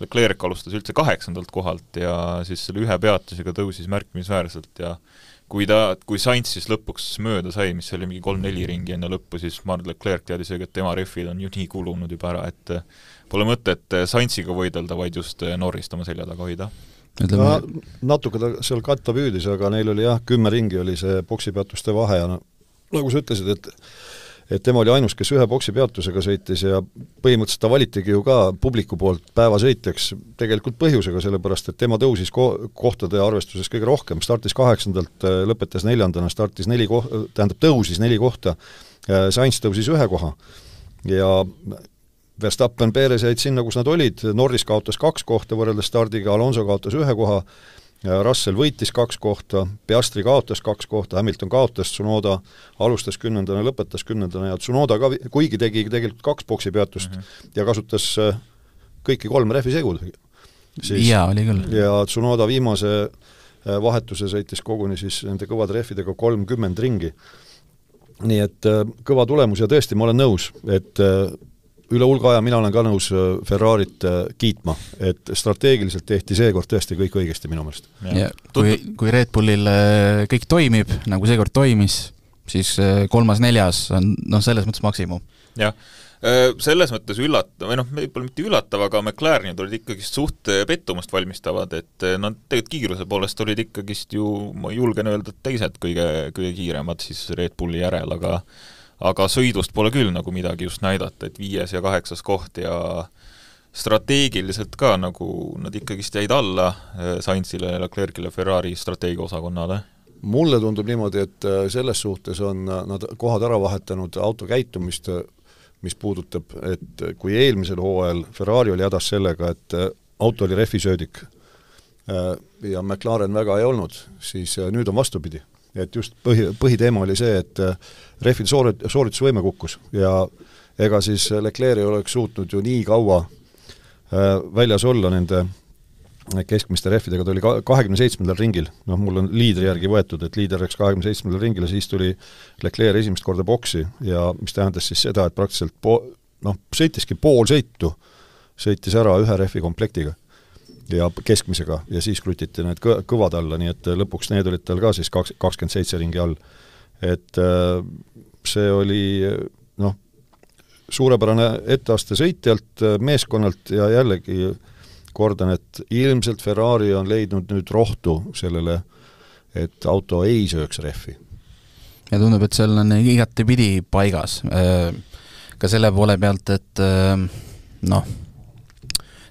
Leclerc alustas üldse kaheksandalt kohalt ja siis selle ühe peatusega tõusis märkimisväärselt ja kui ta, kui Sainz siis lõpuks mööda sai, mis oli mingi kolm-neli ringi enne lõppu, siis Marc Leclerc teadis, et tema rehvid on ju nii kulunud juba ära, et pole mõtet Sainziga võidelda, vaid just Norrist oma selja taga hoida. No, natuke ta seal katta püüdis, aga neil oli jah, kümme ringi oli see boksipeatuste vahe ja no, nagu sa ütlesid, et et tema oli ainus, kes ühe boksipeatusega sõitis ja põhimõtteliselt ta valitigi ju ka publiku poolt päevasõitjaks tegelikult põhjusega, sellepärast et tema tõusis ko- kohtade arvestuses kõige rohkem, startis kaheksandalt, lõpetas neljandana, startis neli kohta, tähendab tõusis neli kohta, Sainz tõusis ühe koha ja Verstappen, Perez jäid sinna, kus nad olid, Norris kaotas kaks kohta võrreldes stardiga, Alonso kaotas ühe koha, Russell võitis kaks kohta, Piastri kaotas kaks kohta, Hamilton kaotas, Tsunoda alustas kümnendana, lõpetas kümnendana ja Tsunoda ka, kuigi tegi tegelikult kaks boksipeatust mm -hmm. ja kasutas kõiki kolm rehvisegud. Jaa, oli küll. Ja Tsunoda viimase vahetuse sõitis koguni siis nende kõvade rehvidega kolmkümmend ringi. Nii et kõva tulemus ja tõesti, ma olen nõus, et üle hulga aja mina olen ka nõus Ferrarit kiitma, et strateegiliselt tehti seekord tõesti kõik õigesti minu meelest. Ja kui, kui Red Bullil kõik toimib, nagu seekord toimis, siis kolmas-neljas on noh, selles mõttes maksimum. Jah, Selles mõttes üllatav, või noh, võib-olla mitte üllatav, aga McLarenid olid ikkagi suht pettumust valmistavad, et nad tegelikult kiiruse poolest olid ikkagist ju, ma julgen öelda, teised kõige, kõige kiiremad siis Red Bulli järel, aga aga sõidust pole küll nagu midagi just näidata, et viies ja kaheksas koht ja strateegiliselt ka nagu nad ikkagist jäid alla Sainzile, Leclercile, Ferrari strateegiaosakonnale. Mulle tundub niimoodi, et selles suhtes on nad kohad ära vahetanud auto käitumist, mis puudutab, et kui eelmisel hooajal Ferrari oli hädas sellega, et auto oli rehvisöödik ja McLaren väga ei olnud, siis nüüd on vastupidi. Et just põhi, põhiteema oli see, et rehvil soorit, sooritusvõime kukkus ja ega siis Leclerc ei oleks suutnud ju nii kaua väljas olla nende keskmiste rehvidega, ta oli kahekümne seitsmendal ringil, noh mul on liidri järgi võetud, et liider läks kahekümne seitsmendal ringil ja siis tuli Leclerc esimest korda boksi ja mis tähendas siis seda, et praktiliselt po, noh, sõitiski pool sõitu, sõitis ära ühe rehvi komplektiga ja keskmisega ja siis krutiti need kõ, kõvad alla, nii et lõpuks need olid tal ka siis kakskümmend seitse ringi all. Et see oli noh, suurepärane etteaste sõitjalt, meeskonnalt ja jällegi kordan, et ilmselt Ferrari on leidnud nüüd rohtu sellele, et auto ei sööks rehvi. Ja tundub, et seal on igati pidi paigas. Ka selle poole pealt, et noh,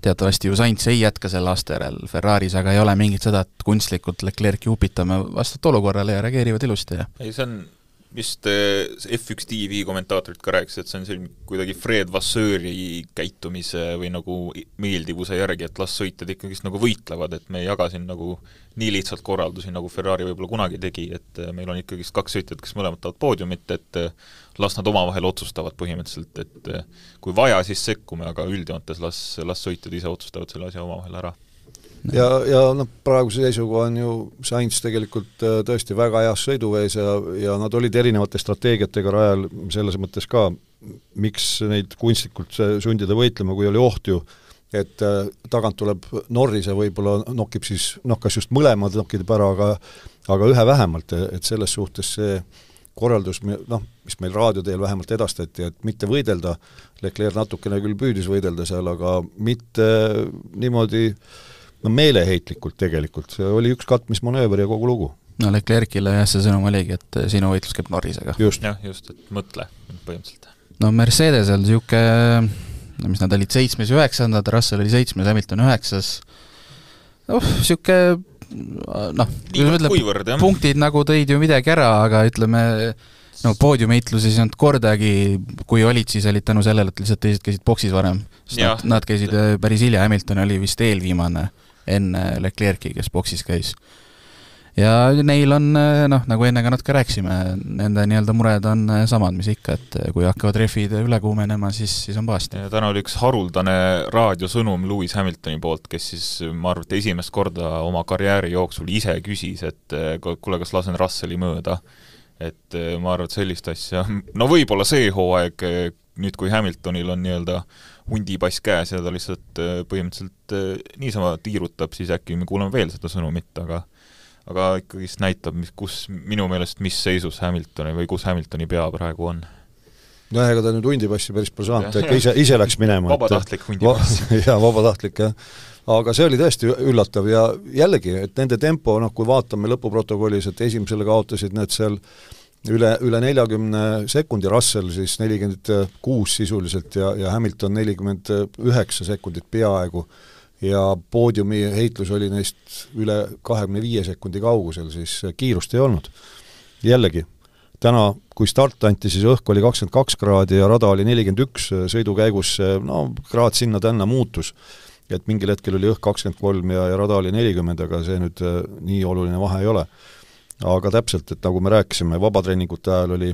teatavasti ju Sainz ei jätka selle aasta järel Ferraris, aga ei ole mingit seda, et kunstlikult Leclerc upitame vastavalt olukorrale ja reageerivad ilusti. Ja. Ei, see on vist F üks T V kommentaatorid ka rääkis, et see on selline kuidagi Fred Vasseuri käitumise või nagu meeldivuse järgi, et las sõitjad ikkagist nagu võitlevad, et me ei jaga siin nagu nii lihtsalt korraldusi, nagu Ferrari võib-olla kunagi tegi, et meil on ikkagist kaks sõitjad, kes mõlemad tahavad poodiumit, et las nad omavahel otsustavad põhimõtteliselt, et kui vaja, siis sekkume, aga üldjoontes las, las sõitjad ise otsustavad selle asja omavahel ära. Ja, ja noh, praeguse seisuga on ju Sainz tegelikult tõesti väga heas sõiduvees ja, ja nad olid erinevate strateegiatega rajal selles mõttes ka, miks neid kunstlikult sundida võitlema, kui oli oht ju, et tagant tuleb Norris ja võib-olla nokib siis, noh kas just mõlemad nokideb ära, aga, aga ühe vähemalt, et selles suhtes see korraldus, noh, mis meil raadioteel vähemalt edastati, et mitte võidelda, Leclerc natukene küll püüdis võidelda seal, aga mitte niimoodi no meeleheitlikult tegelikult, see oli üks katmismanööver ja kogu lugu. No Leclercile jah, see sõnum oligi, et sinu võitlus käib Norrisega. Just. jah, just, et mõtle põhimõtteliselt. No Mercedesel siuke, mis nad olid seitsmes ja üheksandad, Russell oli seitsmes, Hamilton üheksas, oh, siuke noh, kuivõrd, punktid nagu tõid ju midagi ära, aga ütleme no poodiumheitluses ei olnud kordagi, kui olid, siis olid tänu sellele, et lihtsalt teised käisid boksis varem. Nad, nad käisid päris hilja, Hamilton oli vist eelviimane enne Leclerc'i, kes boksis käis. Ja neil on, noh, nagu enne ka natuke rääksime, nende nii-öelda mured on samad, mis ikka, et kui hakkavad refid üle kuumenema, siis, siis on paasti. Ja täna oli üks haruldane raadiosõnum Lewis Hamiltoni poolt, kes siis, ma arvan, et esimest korda oma karjääri jooksul ise küsis, et kuule, kas lasen Russelli mööda. Et ma arvan, et sellist asja, no võib-olla see hooaeg, nüüd kui Hamiltonil on nii-öelda hundipass käes ja ta lihtsalt põhimõtteliselt niisama tiirutab, siis äkki me kuuleme veel seda sõnumit, aga aga ikkagist näitab, mis, kus minu meelest, mis seisus Hamiltoni või kus Hamiltoni pea praegu on. No ega ta nüüd hundipassi päris pole saanud, ta ikka ise, ise läks minema. Vabatahtlik hundipass. Ja vabatahtlik, jah. Aga see oli tõesti üllatav ja jällegi, et nende tempo, noh, kui vaatame lõpuprotokollis, et esimesele kaotasid need seal üle, üle neljakümne sekundi, Russell siis nelikümmend kuus sisuliselt ja, ja Hamilton nelikümmend üheksa sekundit peaaegu ja poodiumi heitlus oli neist üle kahekümne viie sekundi kaugusel, siis kiirust ei olnud. Jällegi, täna, kui start anti, siis õhk oli kakskümmend kaks kraadi ja rada oli nelikümmend üks, sõidu käigus, no kraad sinna tänna muutus, et mingil hetkel oli õhk kakskümmend kolm ja, ja rada oli nelikümmend, aga see nüüd nii oluline vahe ei ole. Aga täpselt, et nagu me rääkisime, vabatreeningute ajal oli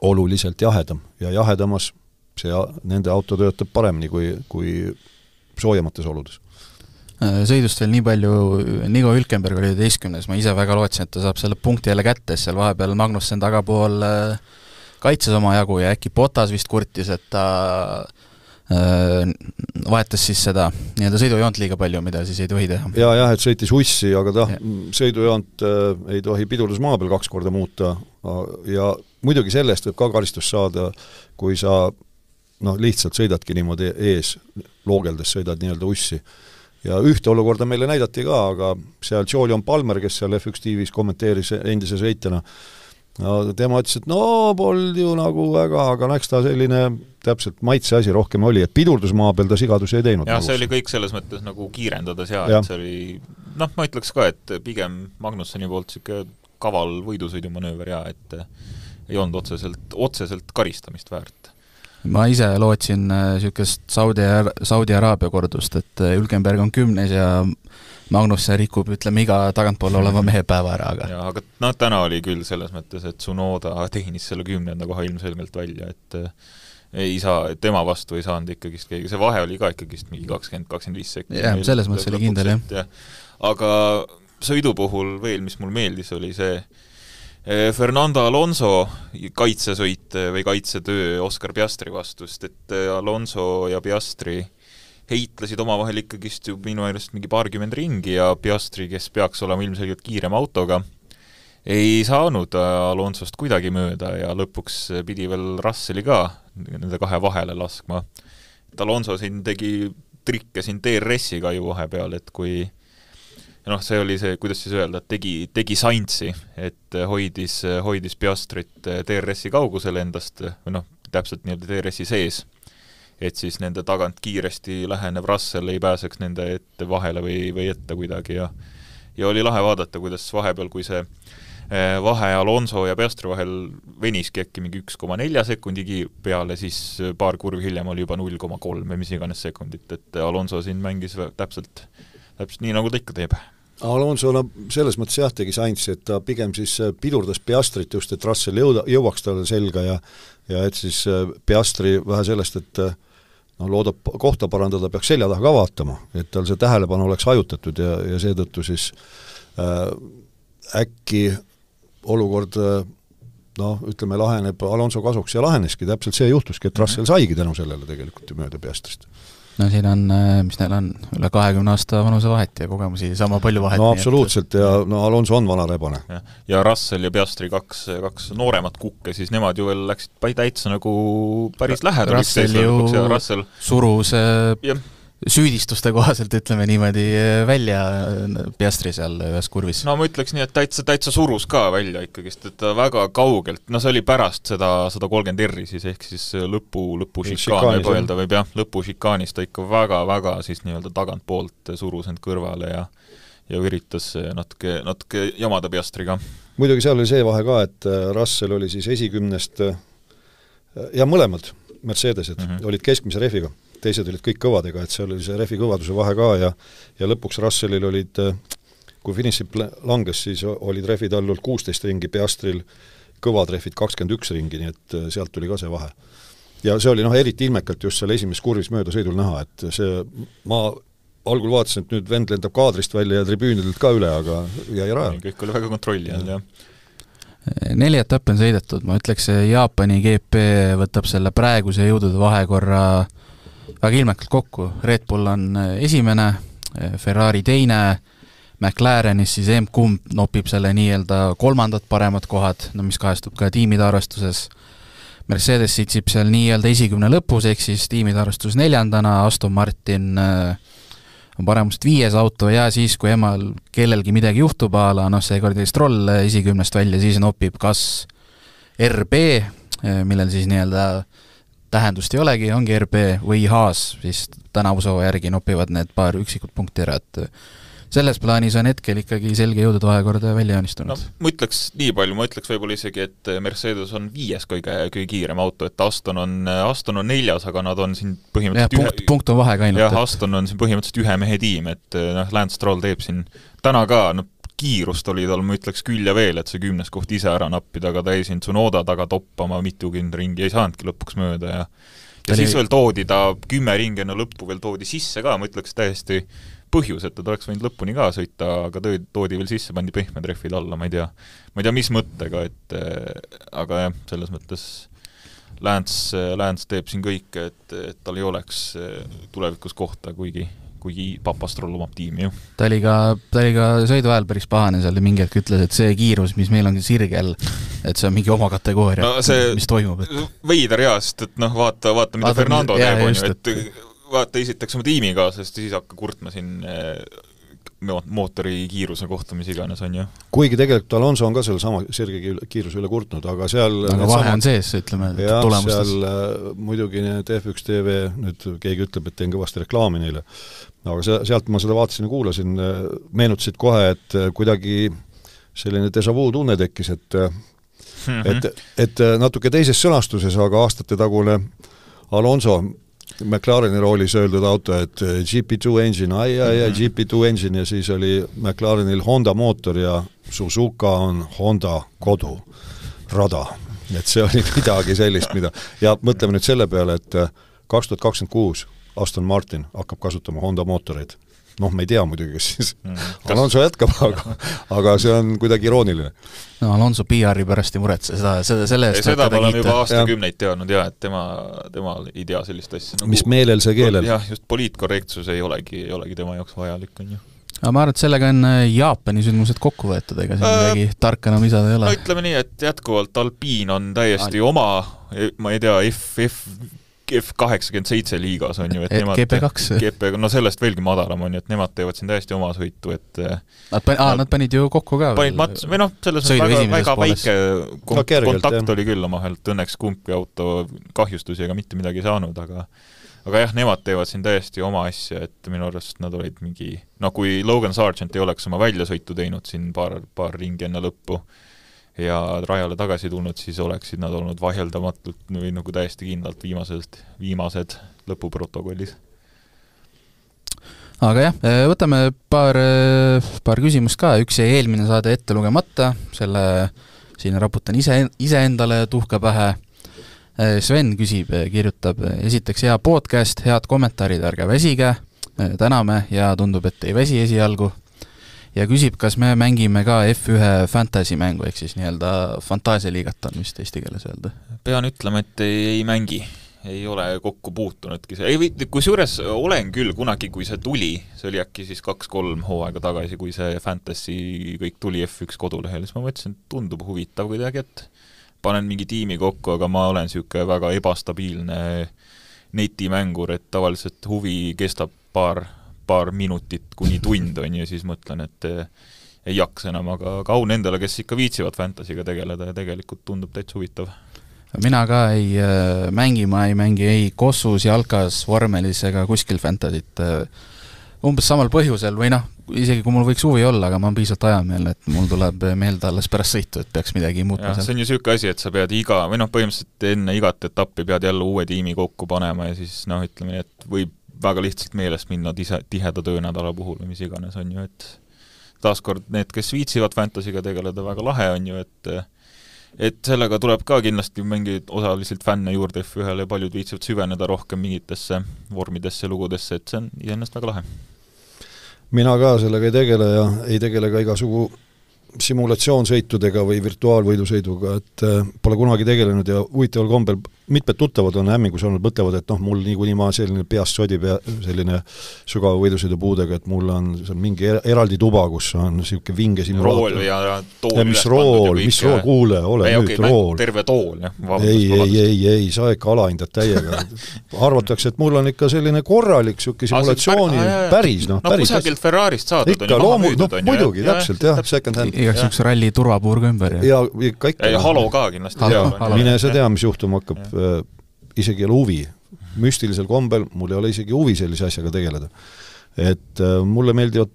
oluliselt jahedam ja jahedamas see, nende auto töötab paremini kui, kui soojamates oludes. Sõidust veel nii palju, Nico Hülkenberg oli üheteistkümnes, ma ise väga lootsin, et ta saab selle punkti jälle kätte, seal vahepeal Magnussen tagapool kaitses oma jagu ja äkki Bottas vist kurtis, et ta vahetas siis seda nii-öelda sõidujoont liiga palju, mida siis ei tohi teha. Ja, jah, et sõitis ussi, aga ta sõidujoont ei tohi pidurdus maa peal kaks korda muuta ja muidugi sellest võib ka karistus saada, kui sa noh, lihtsalt sõidadki niimoodi ees, loogeldes sõidad nii-öelda ussi. Ja ühte olukorda meile näidati ka, aga seal Julian Palmer, kes seal F üks tiivis kommenteeris endise sõitjana, no tema ütles, et no polnud ju nagu väga, aga eks ta selline täpselt maitse asi rohkem oli, et pidurdusmaa peal ta sigadusi ei teinud. Ja nagu. see oli kõik selles mõttes nagu kiirendades ja, ja. et see oli, noh, ma ütleks ka, et pigem Magnussoni poolt siuke kaval võidusõidumanööver ja et ei olnud otseselt, otseselt karistamist väärt. Ma ise lootsin niisugust Saudi, Saudi Araabia kordust, et Hülkenberg on kümnes ja Magnus rikub, ütleme, iga tagantpool oleva mehe päeva ära. Aga. Ja, aga no, täna oli küll selles mõttes, et Tsunoda tehnis selle kümnenda koha ilmselgelt välja, et ei saa, tema vastu ei saanud ikkagist keegi, see vahe oli ka ikkagist mingi kakskümmend kuni kakskümmend viis sekundit. Jah, selles mõttes oli kindel, jah. Ja. Aga sõidu puhul veel, mis mul meeldis, oli see Fernando Alonso kaitsesõit või kaitsetöö Oscar Piastri vastust, et Alonso ja Piastri heitlesid omavahel ikkagist ju minu meelest mingi paarkümmend ringi ja Piastri, kes peaks olema ilmselgelt kiirem autoga, ei saanud Alonsost kuidagi mööda ja lõpuks pidi veel Russelli ka nende kahe vahele laskma. Et Alonso siin tegi trikke siin D R S-iga ju vahepeal, et kui ja noh, see oli see, kuidas siis öelda, et tegi, tegi saintsi, et hoidis, hoidis Piastrit D R S-i kaugusele endast, või noh, täpselt nii-öelda D R S-i sees, et siis nende tagant kiiresti lähenev Russell ei pääseks nende ette vahele või, või ette kuidagi ja ja oli lahe vaadata, kuidas vahepeal, kui see vahe Alonso ja Piastri vahel veniski äkki mingi üks koma neli sekundi peale, siis paar kurvi hiljem oli juba null koma kolm või mis iganes sekundit, et Alonso siin mängis täpselt, täpselt nii, nagu ta ikka teeb. Alonso no, selles mõttes jah tegi saintsi, et ta pigem siis pidurdas Piastrit just, et Russell jõuda, jõuaks talle selga ja, ja et siis Piastri vähe sellest, et no, loodab kohta parandada, peaks selja taha ka vaatama, et tal see tähelepanu oleks hajutatud ja, ja seetõttu siis äh, äkki olukord noh, ütleme, laheneb Alonso kasuks ja laheneski, täpselt see juhtuski, et Russell saigi tänu sellele tegelikult mööda Piastrist. No siin on, mis neil on, üle kahekümne aasta vanuse vahet ja kogemusi sama palju vahet. No absoluutselt ja no Alonso on vana rebane. Ja, ja Russell ja Piastri kaks, kaks nooremat kukke, siis nemad ju veel läksid täitsa nagu päris lähedal. Russell ju Russell... surus ja. Süüdistuste kohaselt, ütleme niimoodi, välja Piastri seal ühes kurvis. No ma ütleks nii, et täitsa, täitsa surus ka välja ikkagist, et ta väga kaugelt, no see oli pärast seda sada kolmkümmend R-i siis, ehk siis lõpu, lõpu šikaan võib öelda, või jah, lõpu šikaanis ta ikka väga, väga siis nii-öelda tagant poolt surus end kõrvale ja ja üritas natuke, natuke jamada Piastriga. Muidugi seal oli see vahe ka, et Russell oli siis esikümnest ja mõlemad Mercedesed mm -hmm. olid keskmise rehviga. Teised olid kõik kõvadega, et seal oli see rehvi kõvaduse vahe ka ja, ja lõpuks Russellil olid, kui finišip langes, siis olid rehvid all kuusteist ringi, Piastril kõvad rehvid kakskümmend üks ringi, nii et sealt tuli ka see vahe. Ja see oli noh, eriti ilmekalt just seal esimeses kurvis mööda sõidul näha, et see, ma algul vaatasin, et nüüd vend lendab kaadrist välja ja tribüünidelt ka üle, aga jäi rajal. Kõik oli väga kontrolli all, jah. Neli etappi on sõidetud, ma ütleks, Jaapani G P võtab selle praeguse jõudude vahekorra väga ilmekalt kokku. Red Bull on esimene, Ferrari teine, McLarenis siis M-kumb nopib selle nii-öelda kolmandad paremad kohad, no mis kahestub ka tiimide arvestuses. Mercedes sitsib seal nii-öelda esikümne lõpus, ehk siis tiimide arvestus neljandana, Aston Martin on paremust viies auto ja siis, kui emal kellelgi midagi juhtub, ala, noh, see kordi Stroll esikümnest välja, siis nopib kas R B, millel siis nii-öelda tähendust ei olegi, ongi R B või Haas, siis tänavusoo järgi nopivad need paar üksikut punkti ära, et selles plaanis on hetkel ikkagi selge jõudude vahekorda välja joonistunud. No, ma ütleks nii palju, ma ütleks võib-olla isegi, et Mercedes on viies kõige, kõige kiirem auto, et Aston on, Aston on neljas, aga nad on siin põhimõtteliselt ja, punkt, ühe... punkt on vahe ka ainult. Jah, Aston on siin põhimõtteliselt ühe mehe tiim, et noh, Lance Stroll teeb siin täna ka, no kiirust oli tal, ma ütleks küll ja veel, et see kümnes koht ise ära nappida, aga ta ei siin Tsunoda taga toppama mitukümmend ringi, ei saanudki lõpuks mööda ja ja Tali... siis veel toodi ta kümme ringi enne lõppu veel toodi sisse ka, ma ütleks täiesti põhjus, et ta oleks võinud lõpuni ka sõita, aga toodi veel sisse, pandi pehmed rehvid alla, ma ei tea, ma ei tea, mis mõttega, et aga jah, selles mõttes Lance, Lance teeb siin kõik, et, et tal ei oleks tulevikus kohta, kuigi, kuigi Papastrol omab tiimi ju. Ta oli ka, ta oli ka sõidu ajal päris pahane, seal mingi hetk ütles, et see kiirus, mis meil on sirgel, et see on mingi oma kategooria, no see mis toimub. Et... Veider jaa, sest et noh, vaata, vaata mida vaata, Fernando teeb, on ju, et, et vaata esiteks oma tiimiga, sest siis hakka kurtma siin mootori kiiruse kohta, mis iganes on ju. Kuigi tegelikult Alonso on ka selle sama sirge kiiruse üle kurtnud, aga seal aga vahe on sees, ütleme, jah, tulemustes. Seal äh, muidugi need F üks T V, nüüd keegi ütleb, et teen kõvasti reklaami neile, aga se sealt ma seda vaatasin ja kuulasin, meenutasid kohe, et kuidagi selline déjà vu tunne tekkis, et, mm -hmm. et, et natuke teises sõnastuses, aga aastate tagune Alonso McLareni roolis öeldud auto, et G P two engine, ai, ai, ai, G P two engine ja siis oli McLarenil Honda mootor ja Suzuka on Honda kodu, rada. Et see oli midagi sellist, mida ja mõtleme nüüd selle peale, et kaks tuhat kakskümmend kuus Aston Martin hakkab kasutama Honda mootoreid. Noh, me ei tea muidugi, kes siis mm, kas... Alonso jätkab, aga, aga see on kuidagi irooniline. No Alonso P R-i pärast ei muretse, seda, seda, selle eest seda me oleme juba aastakümneid teadnud ja et tema, tema ei tea sellist asja. Nagu, mis meelel see keelel? Jah, just poliitkorrektsus ei olegi, ei olegi tema jaoks vajalik, on ju. Aga ma arvan, et sellega on Jaapani sündmused kokku võetud, ega siin äh, midagi tarka enam lisada ei ole. No ütleme nii, et jätkuvalt Alpine on täiesti Al... oma, ma ei tea, F, F F kaheksakümmend seitse liigas on ju, et nemad G P kaks G P, no sellest veelgi madalam on ju, et nemad teevad siin täiesti oma sõitu, et Nad, pan, aa, nad panid ju kokku ka panid mats, või noh, selles on väga, väga väike kon, no, kergelt, kontakt jah. Oli küll omahelt, õnneks kumbki auto kahjustusi ega mitte midagi saanud, aga aga jah, nemad teevad siin täiesti oma asja, et minu arvast nad olid mingi, no kui Logan Sargent ei oleks oma väljasõitu teinud siin paar, paar ringi enne lõppu ja rajale tagasi tulnud, siis oleksid nad olnud vaheldamatult või nagu täiesti kindlalt viimased, viimased lõpuprotokollis. Aga jah, võtame paar, paar küsimust ka, üks jäi eelmine saade ette lugemata, selle siin raputan ise, ise endale tuhka pähe. Sven küsib, kirjutab, esiteks hea podcast, head kommentaarid, ärge väsige, täname ja tundub, et ei väsi esialgu. Ja küsib, kas me mängime ka F üks fantasy mängu, ehk siis nii-öelda fantaasialiigat on vist eesti keeles öelda. Pean ütlema, et ei, ei mängi, ei ole kokku puutunudki. Ei, kui suures olen küll kunagi, kui see tuli, see oli äkki siis kaks-kolm hooaega tagasi, kui see fantasy kõik tuli F üks kodulehel, siis ma mõtlesin, et tundub huvitav kuidagi, et panen mingi tiimi kokku, aga ma olen siuke väga ebastabiilne netimängur, et tavaliselt huvi kestab paar paar minutit kuni tund on ja siis mõtlen, et ei jaksa enam, aga kaun endale, kes ikka viitsivad fantasyga tegeleda ja tegelikult tundub täitsa huvitav. Mina ka ei äh, mängi, ma ei mängi ei kossus, jalkas, vormelis ega kuskil fantasyt äh, umbes samal põhjusel või noh, isegi kui mul võiks huvi olla, aga ma olen piisavalt ajameel, et mul tuleb meelde alles pärast sõitu, et peaks midagi muutma. Ja, see on ju siuke asi, et sa pead iga, või noh, põhimõtteliselt enne igat etappi pead jälle uue tiimi kokku panema ja siis noh, ütleme, et võib väga lihtsalt meelest minna tise, tiheda töönädala puhul või mis iganes on ju, et taaskord need, kes viitsivad fantasyga tegeleda, väga lahe on ju, et et sellega tuleb ka kindlasti mingid osaliselt fänne juurde F ühele ja paljud viitsivad süveneda rohkem mingitesse vormidesse, lugudesse, et see on iseennast väga lahe. Mina ka sellega ei tegele ja ei tegele ka igasugu simulatsioonsõitudega või virtuaalvõidusõiduga, et äh, pole kunagi tegelenud ja huvitaval kombel mitmed tuttavad on hämmingus olnud, mõtlevad, et noh, mul niikuinii ma selline peast sodib ja selline sügava võidusõidu puudega, et mul on seal mingi eraldi tuba, kus on niisugune vinge simulaator. Rool ja, ja tool. Ja mis rool, mis rool, kuule, ole ei, nüüd okay, rool. Terve tool, jah. Ei, ei, ei, ei, sa ikka alahindad täiega. Arvatakse, et mul on ikka selline korralik siuke simulatsiooni, ah, päris, noh, no, päris. No kusagilt Ferrarist saadud ikka, on ju maha müüdud. No, muidugi, ja, täpselt, jah, second hand. Igaks üks ralli turvapuurga ümber. Ja, ja ikka ikka. Ja halo ka kindlasti. Mine sa tea, mis juhtum hakkab. Isegi ei ole huvi. Müstilisel kombel mul ei ole isegi huvi sellise asjaga tegeleda. Et äh, mulle meeldivad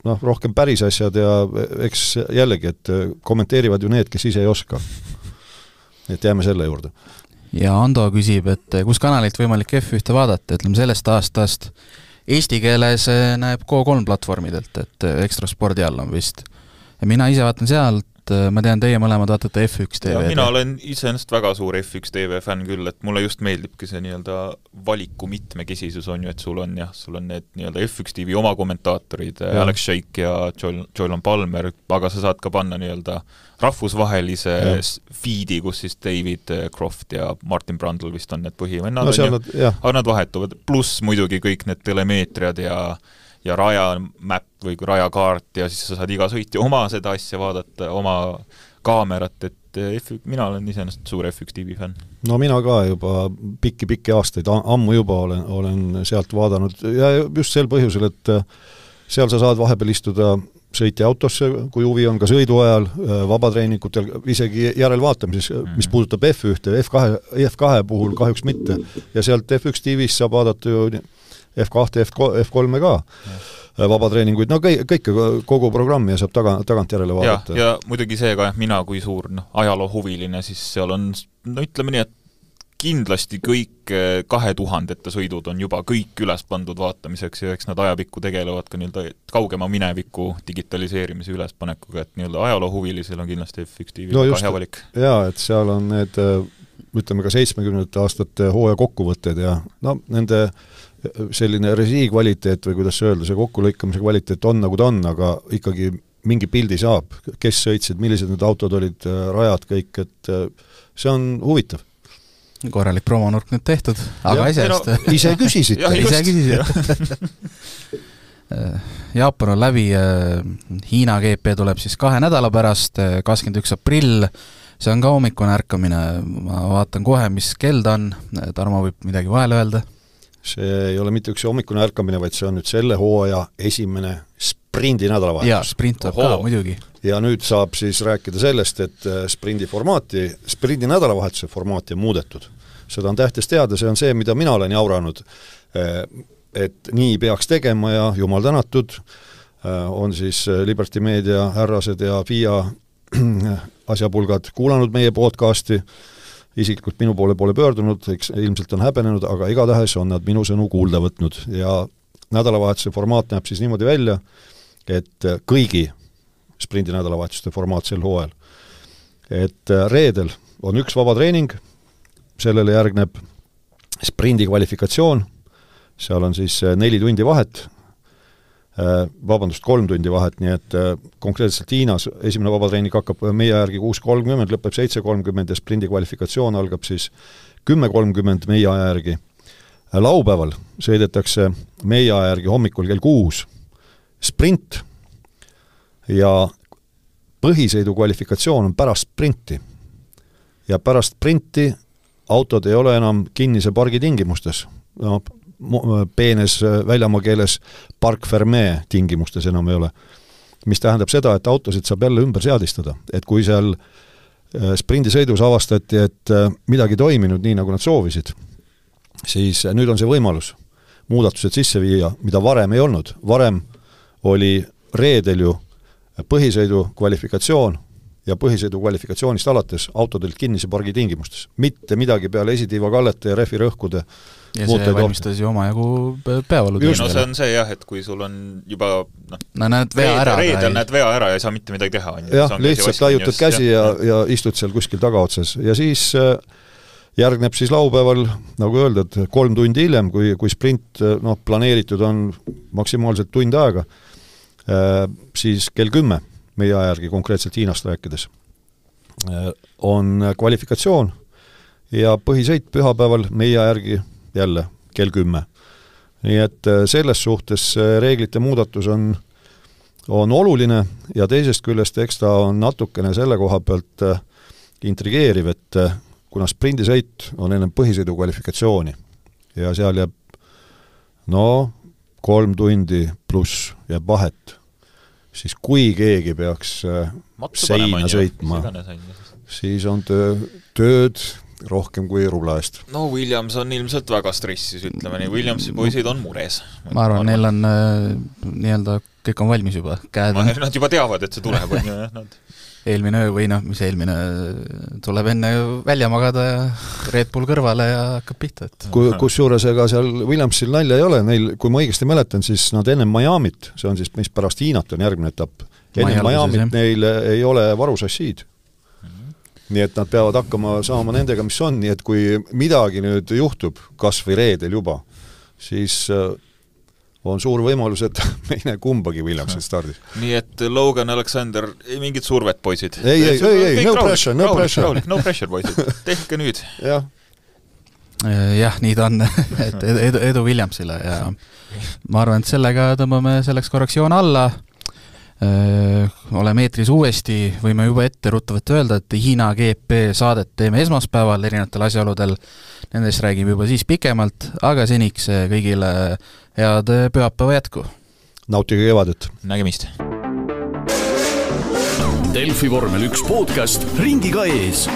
noh, rohkem päris asjad ja eks jällegi, et kommenteerivad ju need, kes ise ei oska. Et jääme selle juurde. Ja Ando küsib, et kus kanalilt võimalik F ühte vaadata, ütleme sellest aastast eesti keeles näeb K kolm platvormidelt, et Ekstra Spordi all on vist. Ja mina ise vaatan sealt et ma tean, teie mõlemad vaatate F üks T V. mina olen iseenesest väga suur F üks T V fänn küll, et mulle just meeldibki see nii-öelda valiku mitmekesisus on ju, et sul on jah, sul on need nii-öelda F üks T V oma kommentaatorid, ja. Alex Shake ja Joylan Palmer, aga sa saad ka panna nii-öelda rahvusvahelise ja. feedi, kus siis David Croft ja Martin Brundle vist on need põhivennad, no, nad, aga nad vahetuvad, pluss muidugi kõik need telemeetriad ja ja raja map või rajakaart ja siis sa saad iga sõitja oma seda asja vaadata, oma kaamerat, et F üks, mina olen iseenesest suur F üks T V fänn. No mina ka juba pikki-pikki aastaid, ammu juba olen, olen sealt vaadanud ja just sel põhjusel, et seal sa saad vahepeal istuda sõitja autosse, kui huvi on ka sõidu ajal, vabatreeningutel, isegi järelvaatamises, mis puudutab F üks, F kaks, F kaks puhul kahjuks mitte. Ja sealt F üks T V-s saab vaadata ju F kaks, F kolm ka vabatreeninguid, no kõik, kõik kogu programmi ja saab taga, tagant järele vaadata. Ja, ja muidugi see ka, mina kui suur no, ajaloohuviline, siis seal on, no ütleme nii, et kindlasti kõik kahe tuhandete sõidud on juba kõik üles pandud vaatamiseks ja eks nad ajapikku tegelevad ka nii-öelda kaugema mineviku digitaliseerimise ülespanekuga, et nii-öelda ajaloohuvilisel on kindlasti F üks T V no väga hea valik. Jaa, et seal on need, ütleme ka seitsmekümnendate aastate hooaja kokkuvõtted ja no nende selline resii kvaliteet või kuidas öelda, see kokkulõikamise kvaliteet on nagu ta on, aga ikkagi mingi pildi saab, kes sõitsid, millised need autod olid, rajad kõik, et see on huvitav. Korralik promonurk nüüd tehtud, aga ise no, ise küsisite. ise küsisite. Jaapan on läbi, Hiina G P tuleb siis kahe nädala pärast, kakskümmend üks aprill, see on ka hommikune ärkamine, ma vaatan kohe, mis kell ta on, Tarmo võib midagi vahele öelda. See ei ole mitte üks hommikune ärkamine, vaid see on nüüd selle hooaja esimene sprindi nädalavahetus. Jaa, sprint tuleb ka, muidugi. Ja nüüd saab siis rääkida sellest, et sprindi formaati, sprindi nädalavahetuse formaati on muudetud. Seda on tähtis teada, see on see, mida mina olen jauranud, et nii peaks tegema ja jumal tänatud, on siis Liberty Media härrased ja F I A asjapulgad kuulanud meie podcasti, isiklikult minu poole poole pöördunud, eks ilmselt on häbenenud, aga igatahes on nad minu sõnu kuulda võtnud ja nädalavahetuse formaat näeb siis niimoodi välja, et kõigi sprindi nädalavahetuste formaat sel hooajal. Et reedel on üks vaba treening, sellele järgneb sprindi kvalifikatsioon, seal on siis neli tundi vahet, vabandust, kolm tundi vahet, nii et konkreetselt Hiinas esimene vabatreening hakkab meie järgi kuus kolmkümmend, lõpeb seitse kolmkümmend ja sprindi kvalifikatsioon algab siis kümme kolmkümmend meie aja järgi. Laupäeval sõidetakse meie aja järgi hommikul kell kuus sprint ja põhisõidu kvalifikatsioon on pärast sprinti. Ja pärast sprinti autod ei ole enam kinnise pargi tingimustes. No, peenes väljamaa keeles park fermee tingimustes enam ei ole. Mis tähendab seda, et autosid saab jälle ümber seadistada. Et kui seal sprindisõidus avastati, et midagi toiminud nii, nagu nad soovisid, siis nüüd on see võimalus muudatused sisse viia, mida varem ei olnud. Varem oli reedel ju põhisõidu kvalifikatsioon ja põhisõidu kvalifikatsioonist alates autodelt kinnise pargi tingimustes. Mitte midagi peale esitiiva kallete ja refi rõhkude. Ja see valmistas ju oma jagu päevalu. No see on see jah, et kui sul on juba no, no näed vea ära. Reedel näed vea ära ja ei saa mitte midagi teha. Jah, lihtsalt laiutad käsi ja, ja istud seal kuskil tagaotsas. Ja siis järgneb siis laupäeval, nagu öeldud, kolm tundi hiljem, kui, kui sprint no, planeeritud on maksimaalselt tund aega, siis kell kümme meie ajärgi konkreetselt Hiinast rääkides on kvalifikatsioon ja põhisõit pühapäeval meie järgi jälle kell kümme. Nii et selles suhtes reeglite muudatus on, on oluline ja teisest küljest eks ta on natukene selle koha pealt intrigeeriv, et kuna sprindisõit on ennem põhisõidu kvalifikatsiooni ja seal jääb no kolm tundi pluss jääb vahet, siis kui keegi peaks Matsu seina sõitma, siis on töö, tööd rohkem kui rubla eest. No Williams on ilmselt väga stressis, ütleme nii. Williamsi poisid on mures. Ma arvan, neil on äh, nii-öelda kõik on valmis juba. Käed on... Nad juba teavad, et see tuleb. On ju, nad... eelmine öö või noh, mis eelmine, tuleb enne välja magada ja Red Bull kõrvale ja hakkab pihta. Et. Kus juures ega seal Williamsil nalja ei ole, neil, kui ma õigesti mäletan, siis nad enne Miamit, see on siis, mis pärast Hiinat on järgmine etapp, enne Miamit neil ei ole varusassiid. Nii et nad peavad hakkama saama nendega, mis on, nii et kui midagi nüüd juhtub, kas või reedel juba, siis on suur võimalus, et me ei näe kumbagi Williamsit stardis. Nii et Logan, Alexander, ei mingit survet, poisid. Ei, ei, ei, ei, no pressure, no pressure. No pressure, poisid. Tehke nüüd. Jah. Jah, nii ta on, et edu, edu Williamsile ja ma arvan, et sellega tõmbame selleks korraks joon alla. Öö, oleme eetris uuesti, võime juba ette ruttavalt öelda, et Hiina G P saadet teeme esmaspäeval erinevatel asjaoludel, nendest räägime juba siis pikemalt, aga seniks kõigile head pühapäeva jätku. Nautige kevadet. Nägemist. Delfi vormel üks podcast ringiga ees.